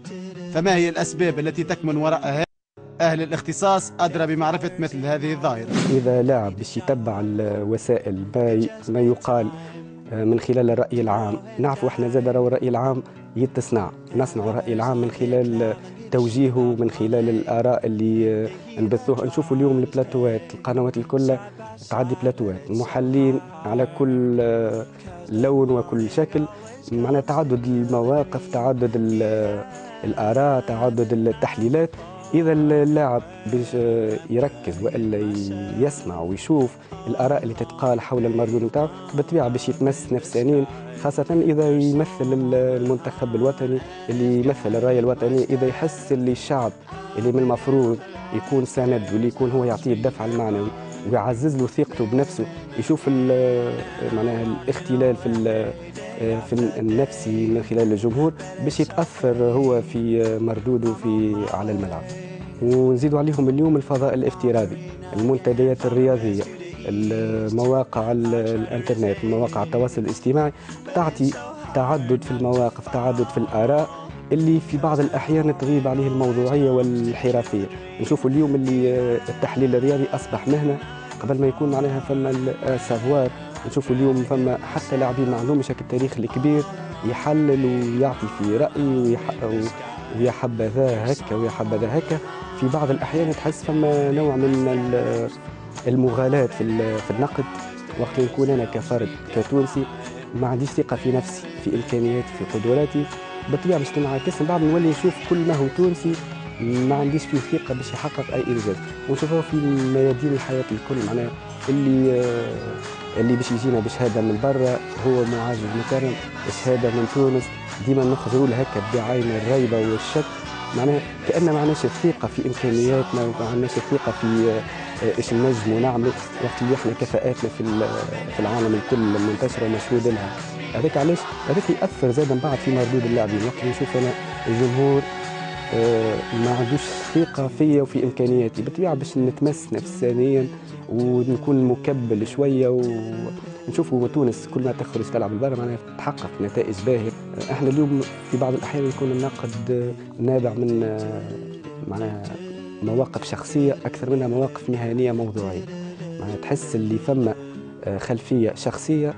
فما هي الأسباب التي تكمن وراء هذا؟ أهل الاختصاص أدرى بمعرفة مثل هذه الظاهرة. إذا لاعب باش يتبع الوسائل ما يقال من خلال الرأي العام، نعرفوا احنا زاد راهو الرأي العام يتصنع، نصنع الرأي العام من خلال توجيهه، من خلال الآراء اللي نبثوها. نشوفوا اليوم البلاتوات، القنوات الكل تعدي بلاتوات، المحللين على كل لون وكل شكل، معناها تعدد المواقف، تعدد الآراء، تعدد التحليلات. إذا اللاعب باش يركز وإلا يسمع ويشوف الآراء اللي تتقال حول المردود نتاعو، بالطبيعة باش يتمس نفسانيا، خاصة إذا يمثل المنتخب الوطني اللي يمثل الراية الوطنية، إذا يحس اللي الشعب اللي من المفروض يكون سند واللي يكون هو يعطيه الدفع المعنوي ويعزز له ثقته بنفسه، يشوف معناها الاختلال في في النفسي من خلال الجمهور باش يتاثر هو في مردودة في على الملعب. ونزيدوا عليهم اليوم الفضاء الافتراضي، المنتديات الرياضية، المواقع الانترنت، مواقع التواصل الاجتماعي، تعطي تعدد في المواقف، تعدد في الاراء اللي في بعض الاحيان تغيب عليه الموضوعية والحرفيه. نشوفوا اليوم اللي التحليل الرياضي اصبح مهنة قبل ما يكون معناها فما ال savoir. نشوفوا اليوم فما حتى لاعبين ما عندهمش التاريخ الكبير يحلل ويعطي في راي ويا حبذا هكا ويا حبذا هكا. في بعض الاحيان تحس فما نوع من المغالاة في في النقد. وقت نكون انا كفرد كتونسي ما عنديش ثقة في نفسي، في امكانياتي، في قدراتي، بالطبيعة باش تنعكس من بعد نولي نشوف كل ما هو تونسي ما عنديش فيه ثقة باش يحقق اي انجاز. ونشوفوه في ميادين الحياة الكل، معناها اللي اللي باش يجينا بشهادة من برا هو معزز مكرم، شهادة من تونس ديما نخزروا له هكا بعين الريبة والشك، معناها كأن ما عندناش الثقة في امكانياتنا وما عندناش الثقة في ايش نجموا نعملوا، وقت اللي احنا كفاءاتنا في في العالم الكل منتشرة ومشهود لها. هذاك علاش هذاك ياثر زاد من بعد في مردود اللاعبين. وقت اللي نشوف انا الجمهور ما عندوش ثقة فيا وفي امكانياتي، بالطبيعة باش نتمس نفسانيا ونكون مكبل شوية، ونشوفوا تونس كل ما تخرج تلعب البرا معناها تحقق نتائج باهيه. احنا اليوم في بعض الاحيان يكون النقد نابع من معناها مواقف شخصية اكثر منها مواقف مهنية موضوعية، معناها تحس اللي فما خلفية شخصية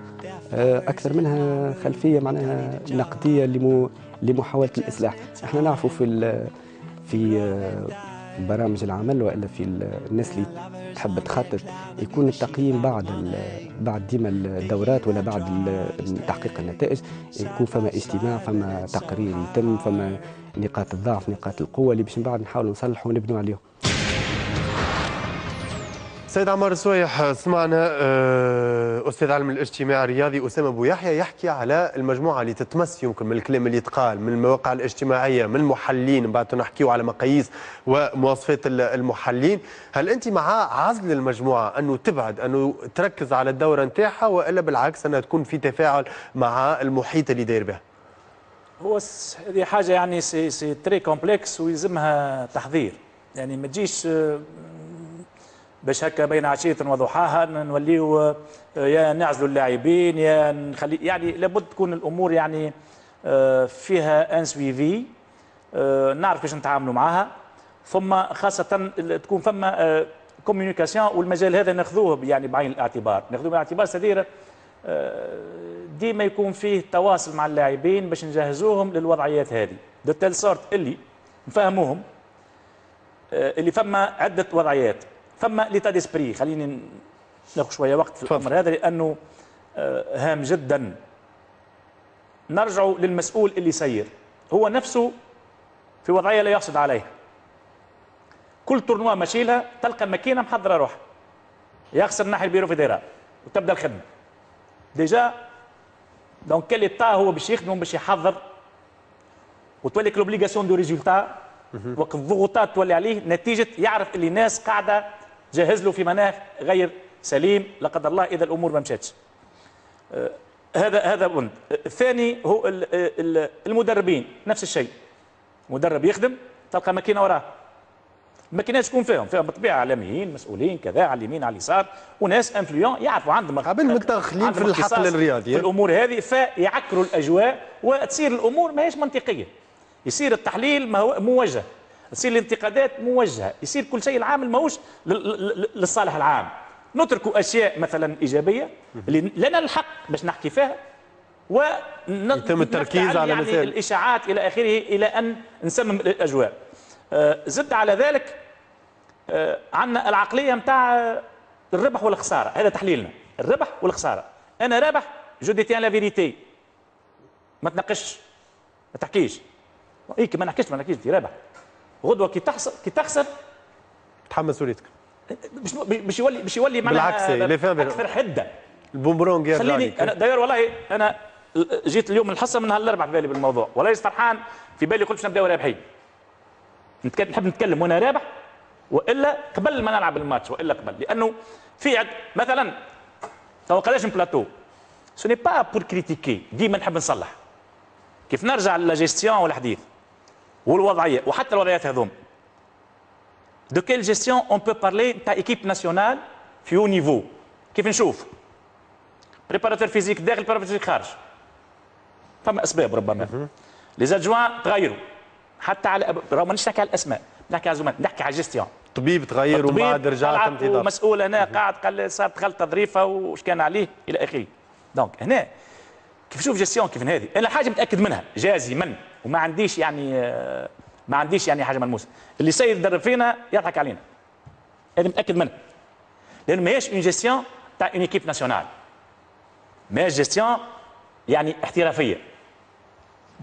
اكثر منها خلفية معناها نقدية لمحاولة الاصلاح. احنا نعرفوا في في برامج العمل والا في الناس اللي تحب تخطط يكون التقييم بعد بعد ديما الدورات ولا بعد تحقيق النتائج، يكون فما اجتماع، فما تقرير يتم، فما نقاط الضعف، نقاط القوة اللي باش من بعد نحاولوا نصلحوا ونبنوا عليهم. سيد عمار السويح، سمعنا استاذ علم الاجتماع الرياضي اسامة ابو يحيى يحكي على المجموعة اللي تتمس يمكن من الكلام اللي يتقال من المواقع الاجتماعية، من المحللين، من بعد نحكيو على مقاييس ومواصفات المحللين. هل انت مع عزل المجموعة انه تبعد، انه تركز على الدورة نتاعها، والا بالعكس انها تكون في تفاعل مع المحيط اللي داير بها؟ هو هذه حاجة يعني c'est c'est très complexe ويلزمها تحضير، يعني ما تجيش باش هكا بين عشية وضحاها نوليو يا نعزلوا اللاعبين يا نخلي، يعني لابد تكون الامور يعني فيها un suivi، نعرف كيفاش نتعاملوا معاها، ثم خاصة تكون فما communication، والمجال هذا ناخذوه يعني بعين الاعتبار، ناخذوه بعين الاعتبار c'est-à-dire ديما يكون فيه تواصل مع اللاعبين باش نجهزوهم للوضعيات هذه de telle sorte اللي نفهموهم اللي فما عده وضعيات، فما l'état d'esprit. خليني ناخذ شوية وقت في الامر هذا لانه هام جدا. نرجع للمسؤول اللي سير هو نفسه في وضعية لا يحسد عليها. كل tournoi ماشي لها تلقى ماكينة محضرة روحها، يخسر ناحية ال bureau fédéral وتبدا الخدمة. déjà dans quel état هو باش يخدم باش يحضر، وتولي l'obligation de résultat، وقت الضغوطات تولي عليه نتيجة يعرف اللي الناس قاعدة جهز له في مناخ غير سليم لا قدر الله اذا الامور ما مشاتش. آه هذا هذا بند. الثاني هو المدربين نفس الشيء. مدرب يخدم تلقى ماكينة وراه. الماكينات شكون فيهم؟ فيهم بالطبيعة اعلاميين، مسؤولين كذا، على اليمين على اليسار، وناس influents يعرفوا عندهم قبل متدخلين في الحقل الرياضي في الامور هذه، فيعكروا الاجواء وتصير الامور ماهيش منطقية. يصير التحليل ما هو موجه، تصير الانتقادات موجهة، يصير كل شيء العامل ماهوش للصالح العام. نترك اشياء مثلا ايجابية اللي لنا الحق باش نحكي فيها، و يتم التركيز على يعني مثال الاشاعات الى اخره الى ان نسمم الاجواء. زد على ذلك عندنا العقلية نتاع الربح والخسارة، هذا تحليلنا، الربح والخسارة. انا رابح je détiens la vérité، ما تناقشش ما تحكيش. اي ما نحكيش ما نحكيش انت رابح. غدوه كي تحصل كي تخسر تحمل مسؤوليتك. باش باش يولي باش يولي معناها اكثر حده. البومبرونج يرجع. خليني انا d'ailleurs والله انا جيت اليوم الحصة من نهار الاربعاء في بالي بالموضوع، والله فرحان في بالي قلت باش نبداو رابحين. نحب نتكلم وانا رابح والا قبل ما نلعب الماتش والا قبل، لانه في عد مثلا تو قداش plateau ce n'est pas pour critiquer، ديما نحب نصلح. كيف نرجع للا والحديث والوضعيه وحتى الوضعيات هذوم، de quelle gestion on peut parler تاع équipe nationale في haut niveau؟ كيف نشوف préparateur physique داخل préparateur physique خارج، فما اسباب ربما les adjoints تغيروا حتى على راهو مانيش نحكي على الاسماء، نحكي على الزملاء، نحكي على الجيستيون. طبيب تغير ومن بعد رجع تم ومسؤول هنا قاعد قال صارت غلطه ظريفة وش كان عليه الى اخره. donc هنا كيف نشوف gestion كيف هذه، انا حاجة متاكد منها جازما وما عنديش يعني ما عنديش يعني حاجة ملموسة، اللي سيد يدرب فينا يضحك علينا. هذا متاكد منها. لانه ماهيش une gestion تاع une équipe nationale. ماهيش gestion يعني احترافية.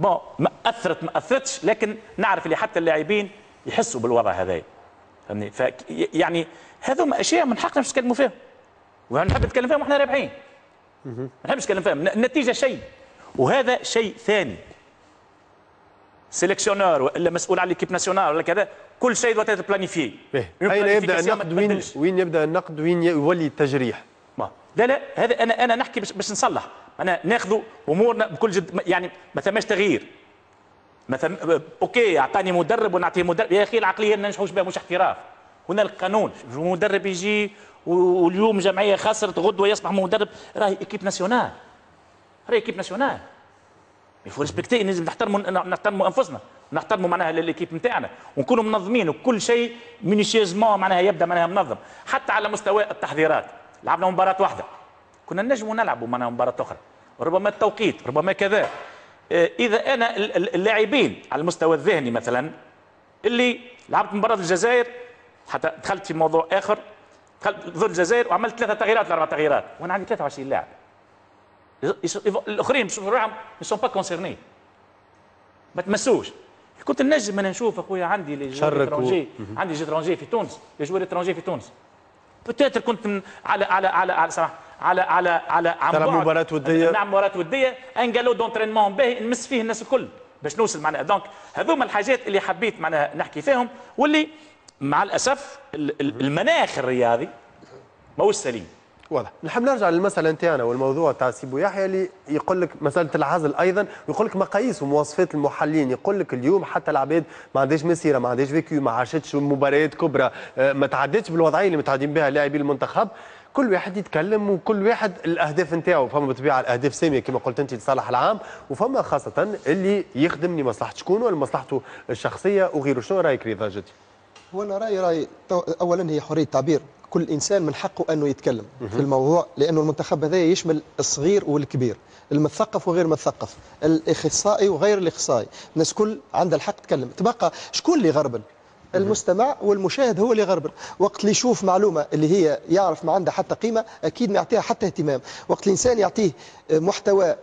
bon ما اثرت ما اثرتش، لكن نعرف اللي حتى اللاعبين يحسوا بالوضع هذايا. فهمني؟ ف يعني هذوما اشياء من حقنا باش نتكلموا فيهم. ونحب نتكلم فيهم واحنا رابحين. ما نحبش نتكلم فيهم، النتيجة شيء وهذا شيء ثاني. sélectionneur والا مسؤول على l'équipe nationale ولا كذا، كل شيء doit être planifié. اين يبدا النقد؟ وين وين يبدا النقد؟ وين يولي التجريح؟ ما لا لا هذا انا انا نحكي باش باش نصلح، انا ناخذ امورنا بكل جد، يعني ما ثماش تغيير. ما ثم OK اعطاني مدرب ونعطيه مدرب، يا اخي العقلية ما ننجحوش بها، مش احتراف. هنالك قانون، مدرب يجي واليوم جمعية خسرت غدوه يصبح مدرب، راهي équipe nationale، راهي équipe nationale، il faut respecter، لازم نحترموا نحترموا انفسنا، نحترموا معناها l'équipe نتاعنا ونكونوا منظمين وكل شيء minutieusement معناها يبدا معناها منظم، حتى على مستوى التحضيرات. لعبنا مباراة واحدة، كنا نجموا نلعبوا معناها مباراة اخرى، ربما التوقيت، ربما كذا. اذا انا اللاعبين على المستوى الذهني مثلا اللي لعبت مباراة الجزائر، حتى دخلت في موضوع اخر، دخلت ضد الجزائر وعملت ثلاثة تغييرات لاربع تغييرات وانا عندي ثلاثة وعشرين لاعب، الاخرين باش روحهم ne sont pas concernés، ما تمسوش. كنت نجم انا نشوف اخويا عندي les joueurs étrangers، عندي les étrangers في تونس، les joueurs étrangers في تونس، peut-être كنت على على على على سمح على على على عن بعد مباراة ودية، نعم مباراة ودية، un galop d'entraînement باهي نمس فيه الناس الكل باش نوصل معناها. donc هذوما الحاجات اللي حبيت معناها نحكي فيهم، واللي مع الاسف المناخ الرياضي ماهوش سليم. واضح. نحب نرجع للمسالة نتاعنا والموضوع تاع سيبو يحيى اللي يقول لك مسالة العزل ايضا، ويقول لك مقاييس ومواصفات المحللين، يقول لك اليوم حتى العباد ما عندهاش مسيره، ما عندهاش vécu، ما عاشتش مباريات كبرى، ما تعدتش بالوضعيه اللي متعدين بها لاعبي المنتخب، كل واحد يتكلم وكل واحد الاهداف نتاعو، فما بالطبيعة الاهداف سامية كما قلت انت لصالح العام، وفما خاصة اللي يخدم لمصلحة شكون ولا لمصلحته الشخصية وغيره. شنو رايك رضا جدي؟ هو انا رايي راي اولا هي حرية التعبير، كل انسان من حقه انه يتكلم في الموضوع، لانه المنتخب هذا يشمل الصغير والكبير، المثقف وغير المثقف، الاخصائي وغير الاخصائي، الناس كل عندها الحق تتكلم. تبقى شكون اللي غربل؟ المستمع والمشاهد هو اللي غربل. وقت اللي يشوف معلومة اللي هي يعرف ما عندها حتى قيمة اكيد ما يعطيها حتى اهتمام، وقت الانسان يعطيه محتوى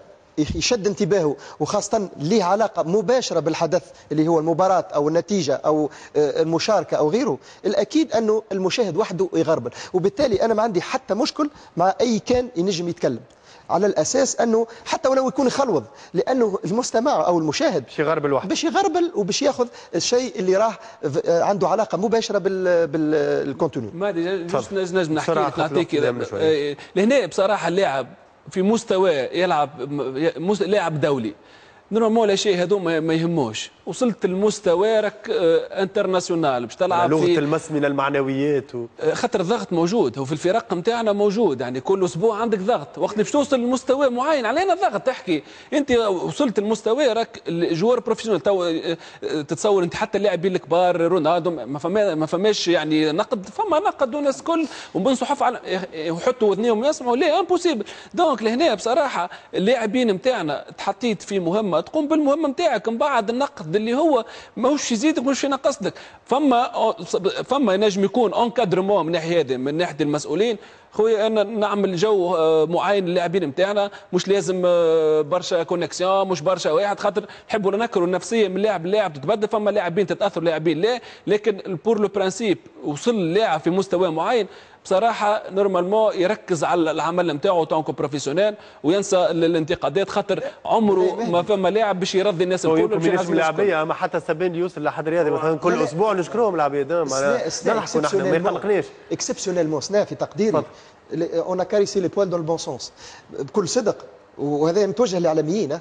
يشد انتباهه وخاصة ليه علاقة مباشرة بالحدث اللي هو المباراة أو النتيجة أو المشاركة أو غيره، الأكيد أنه المشاهد وحده يغربل. وبالتالي أنا ما عندي حتى مشكل مع أي كان ينجم يتكلم، على الأساس أنه حتى ولو يكون يخلوض، لأنه المستمع أو المشاهد باش يغربل وحده، باش يغربل وباش ياخذ الشيء اللي راه عنده علاقة مباشرة بال بال contenu. ما نجم نحكي لك نعطيك لهنا بصراحة اللاعب في مستوى يلعب لاعب دولي normalement لا شيء هذو ما يهموش، وصلت المستوى راك international باش تلعب لغة في المس من المعنويات و... خاطر الضغط موجود، هو في الفرق نتاعنا موجود، يعني كل اسبوع عندك ضغط، وقت باش توصل لمستوى معين علينا ضغط تحكي، انت وصلت المستوى راك joueur professionnel، تو تتصور انت حتى اللاعبين الكبار رونالدو ما فما ما فماش يعني نقد، فما نقد والناس الكل ومن صحف على يحطوا وذنيهم يسمعوا، لا impossible. donc لهنا بصراحة اللاعبين نتاعنا تحطيت في مهمة، تقوم بالمهمه نتاعك، من بعد النقد اللي هو ماهوش يزيدك ماهوش ينقص لك، فما فما ينجم يكون encadrement من ناحية هذه، من ناحية المسؤولين. خويا انا نعمل جو معين للاعبين نتاعنا، مش لازم برشا connexion، مش برشا واحد، خاطر نحبوا ولا نكرهوا النفسية من لاعب للاعب تتبدل، فما لاعبين تتاثر لاعبين لا، لكن pour le principe وصل اللاعب في مستوى معين بصراحة normalement يركز على العمل نتاعو tant que professionnel وينسى الانتقادات، خاطر عمره ما فما لاعب باش يرضي الناس الكل. يمكن مش ملاعبيه، اما حتى سبين اللي يوصل لحد رياضي مثلا كل اسبوع نشكرهم العباد، نضحكوا نحن ما يقلقناش. exceptionnellement سنا في تقديري on a caressé les poils dans le bon sens بكل صدق، وهذا متوجه للاعلاميين.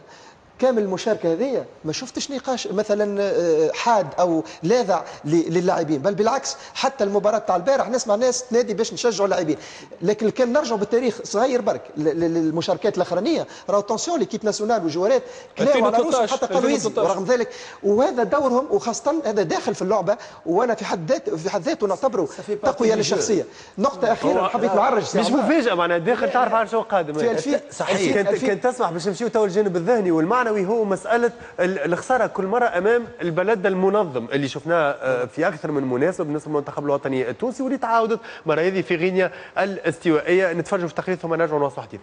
كامل المشاركة هذه ما شفتش نقاش مثلا حاد او لاذع للاعبين، بل بالعكس حتى المباراة تاع البارح نسمع ناس تنادي باش نشجعوا اللاعبين. لكن كان نرجعوا بالتاريخ صغير برك للمشاركات الاخرانية، راهو attention l'équipe nationale والجوارات كلاو على روسهم حتى قالوا يزي، ورغم ذلك وهذا دورهم، وخاصة هذا داخل في اللعبة، وانا في حد ذاته في حد ذاته نعتبره تقوية للشخصية. نقطة اخيرة حبيت نعرج، مش مفاجاة معناها داخل تعرف على شو قادم. صحيح، كان تسمح باش نمشيو تو الجانب الذهني والمعنى هو مسألة الخسارة كل مرة أمام البلد المنظم اللي شفناه في أكثر من مناسبة بالنسبة للمنتخب الوطني التونسي، واللي تعاودت مرة هذه في غينيا الاستوائية. نتفرجوا في تقرير ثم نرجعوا نواصلوا حديث.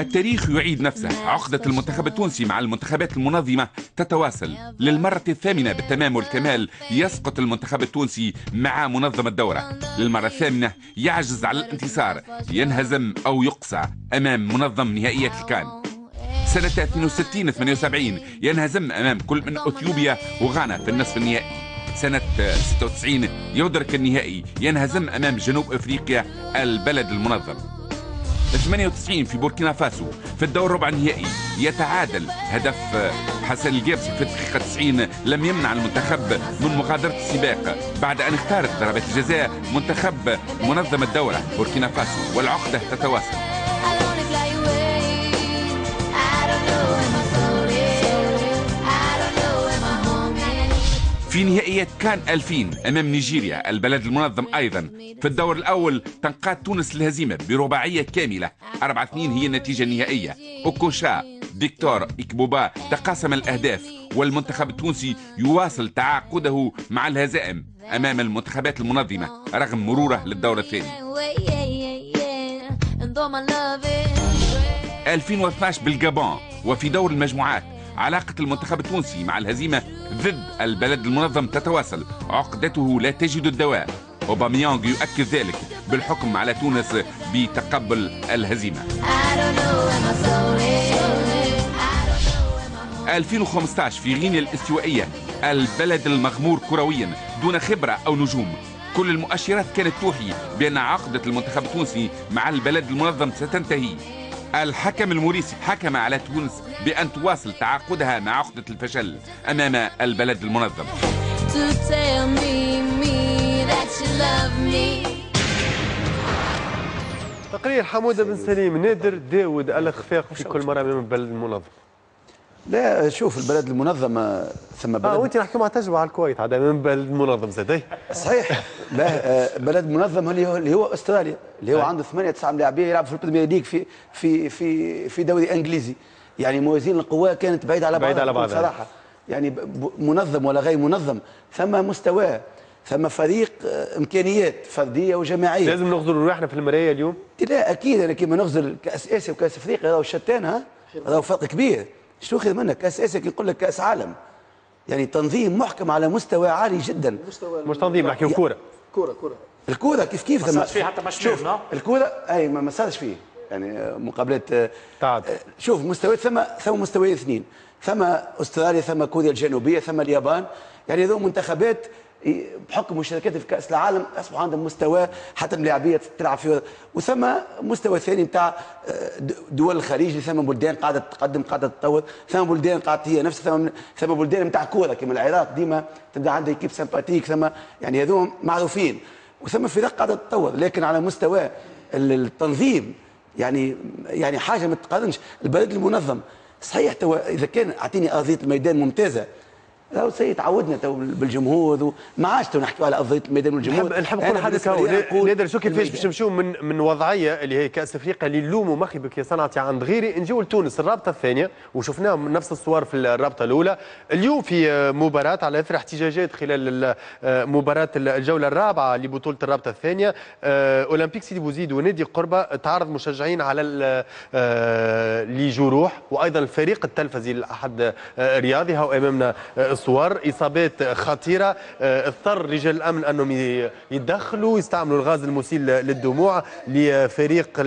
التاريخ يعيد نفسه. عقدة المنتخب التونسي مع المنتخبات المنظمة تتواصل للمرة الثامنة بالتمام والكمال. يسقط المنتخب التونسي مع منظم الدورة للمرة الثامنة، يعجز على الانتصار، ينهزم أو يقصى أمام منظم نهائيات الكان. سنة اثنين وستين ثمانية وسبعين ينهزم أمام كل من أثيوبيا وغانا في النصف النهائي. سنة ستة وتسعين يدرك النهائي، ينهزم أمام جنوب أفريقيا البلد المنظم. ثمانية وتسعين في بوركينا فاسو في الدور ربع النهائي يتعادل هدف حسن الجابسي في الدقيقة تسعين لم يمنع المنتخب من مغادرة السباق بعد أن اختارت ضربات الجزاء منتخب منظم الدورة بوركينا فاسو، والعقدة تتواصل. في نهائيات كان ألفين أمام نيجيريا البلد المنظم أيضا في الدور الأول تنقاد تونس الهزيمة برباعية كاملة أربعة اثنين هي النتيجة النهائية. أوكوشا فيكتور إكبوبا تقاسم الأهداف، والمنتخب التونسي يواصل تعاقده مع الهزائم أمام المنتخبات المنظمة رغم مروره للدور الثاني. ألفين واثناش بالجابون وفي دور المجموعات علاقة المنتخب التونسي مع الهزيمة ضد البلد المنظم تتواصل، عقدته لا تجد الدواء. أوباميانغ يؤكد ذلك بالحكم على تونس بتقبل الهزيمة. ألفين وخمسة عشر في غينيا الاستوائية البلد المغمور كرويا دون خبرة أو نجوم، كل المؤشرات كانت توحي بأن عقدة المنتخب التونسي مع البلد المنظم ستنتهي. الحكم الموريسي حكم على تونس بأن تواصل تعاقدها مع عقدة الفشل أمام البلد المنظم. تقرير حمودة بن سليم. نادر داود الإخفاق في كل مرة أمام البلد المنظم. لا شوف البلد المنظم ثم بلد اه وانت نحكي مع تجربه على الكويت عاد امام بلد منظم زاد. صحيح. لا بلد منظم اللي هو اللي هو استراليا اللي هو عنده ثمانية تسعة ملاعبيه يلعب في ال Premier League في في في في دوري انجليزي، يعني موازين القوى كانت بعيدة على بعضها على بعضها صراحة، يعني منظم ولا غير منظم ثم مستوى ثم فريق امكانيات فردية وجماعيه. لازم نغزر روحنا في المراية اليوم؟ لا اكيد، انا كيما نغزر كاس اسيا وكاس افريقيا راهو شتان، ها راهو فرق كبير. شنو خير منك كاس اسيا كي نقول لك كاس عالم، يعني تنظيم محكم على مستوى عالي جدا. مش تنظيم، نحكيو كورة كورة كورة الكورة كيف كيف ما صارش فيه حتى ماتش الكورة اي ما صارش فيه يعني مقابلات تعادل. شوف مستويات ثم ثم مستويين اثنين، ثم استراليا ثم كوريا الجنوبية ثم اليابان، يعني هذو منتخبات بحكم مشاركتها في كاس العالم اصبح عندهم مستوى حتى الملاعبيه تلعب فيه، وثم مستوى ثاني نتاع دول الخليج، ثم بلدان قاعدة تتقدم قاعدة تتطور، ثم بلدان قاعدة هي نفسها، ثم ثم بلدان نتاع كورة كما العراق ديما تبدا عندها équipe sympathique، ثم يعني هذوم معروفين، وثم فرق قاعدة تتطور، لكن على مستوى التنظيم يعني يعني حاجة ما تقارنش. البلد المنظم صحيح توا اذا كان اعطيني ارضية الميدان ممتازة راهو سي تعودنا تو بالجمهور وما عادش تو نحكيو على ارضية الميدان والجمهور. نحب نقول حاجة نادر، شو كيفاش باش نمشيو من من وضعية اللي هي كاس افريقيا اللي نلوموا مخبك يا صنعتي عند غيري، نجيو لتونس الرابطة الثانية وشفناهم نفس الصور في الرابطة الاولى. اليوم في مباراة على اثر احتجاجات خلال مباراة الجولة الرابعة لبطولة الرابطة الثانية، اولمبيك سيدي بوزيد ونادي قربه تعرض مشجعين على لجروح، وايضا الفريق التلفزي لاحد رياضي هو امامنا الصور، اصابات خطيرة، اضطر رجال الامن انهم يتدخلوا يستعملوا الغاز المسيل للدموع لفريق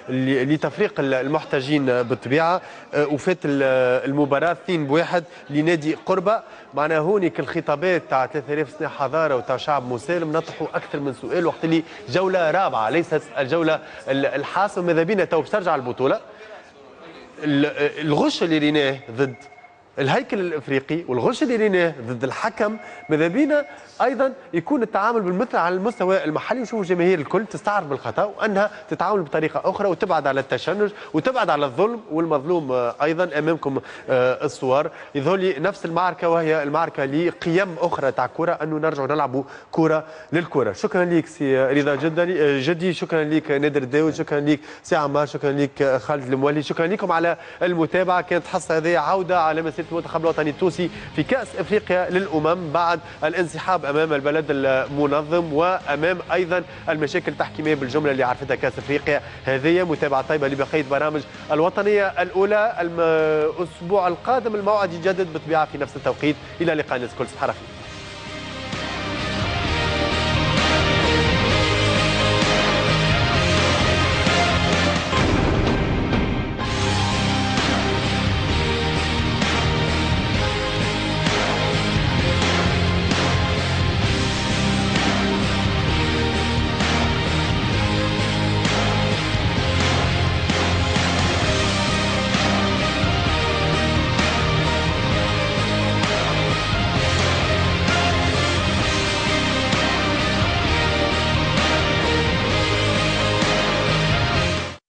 لتفريق المحتجين بالطبيعة. وفات المباراة اثنين بواحد لنادي قربه. معنا هونيك الخطابات تاع ثلاثة آلاف سنة حضارة وتاع شعب مسالم نطرحوا اكثر من سؤال وقت اللي جولة رابعه ليست الجولة الحاسمة. ماذا بينا تو باش ترجع البطولة، الغش اللي ريناه ضد الهيكل الافريقي والغش اللي ريناه ضد الحكم، ماذا بينا ايضا يكون التعامل بالمثل على المستوى المحلي، ونشوفوا الجماهير الكل تستعرف بالخطا وانها تتعامل بطريقة اخرى وتبعد على التشنج وتبعد على الظلم والمظلوم. ايضا امامكم الصور يظهر لي نفس المعركة، وهي المعركة لقيم اخرى تاع كره، انه نرجعوا نلعبوا كره للكرة. شكرا لك سي رضا جدي جدي، شكرا لك نادر داود، شكرا لك سي عمار، شكرا لك خالد المولي، شكرا لكم على المتابعة. كانت حصة هذه عوده على مسيره المنتخب الوطني التونسي في كأس افريقيا للامم بعد الانسحاب امام البلد المنظم وامام ايضا المشاكل التحكيميه بالجملة اللي عرفتها كأس افريقيا هذه. متابعه طيبة لبقية برامج الوطنية الاولى. الاسبوع القادم الموعد يتجدد بالطبيعة في نفس التوقيت. الى اللقاء الناس الكل، صباح الخير.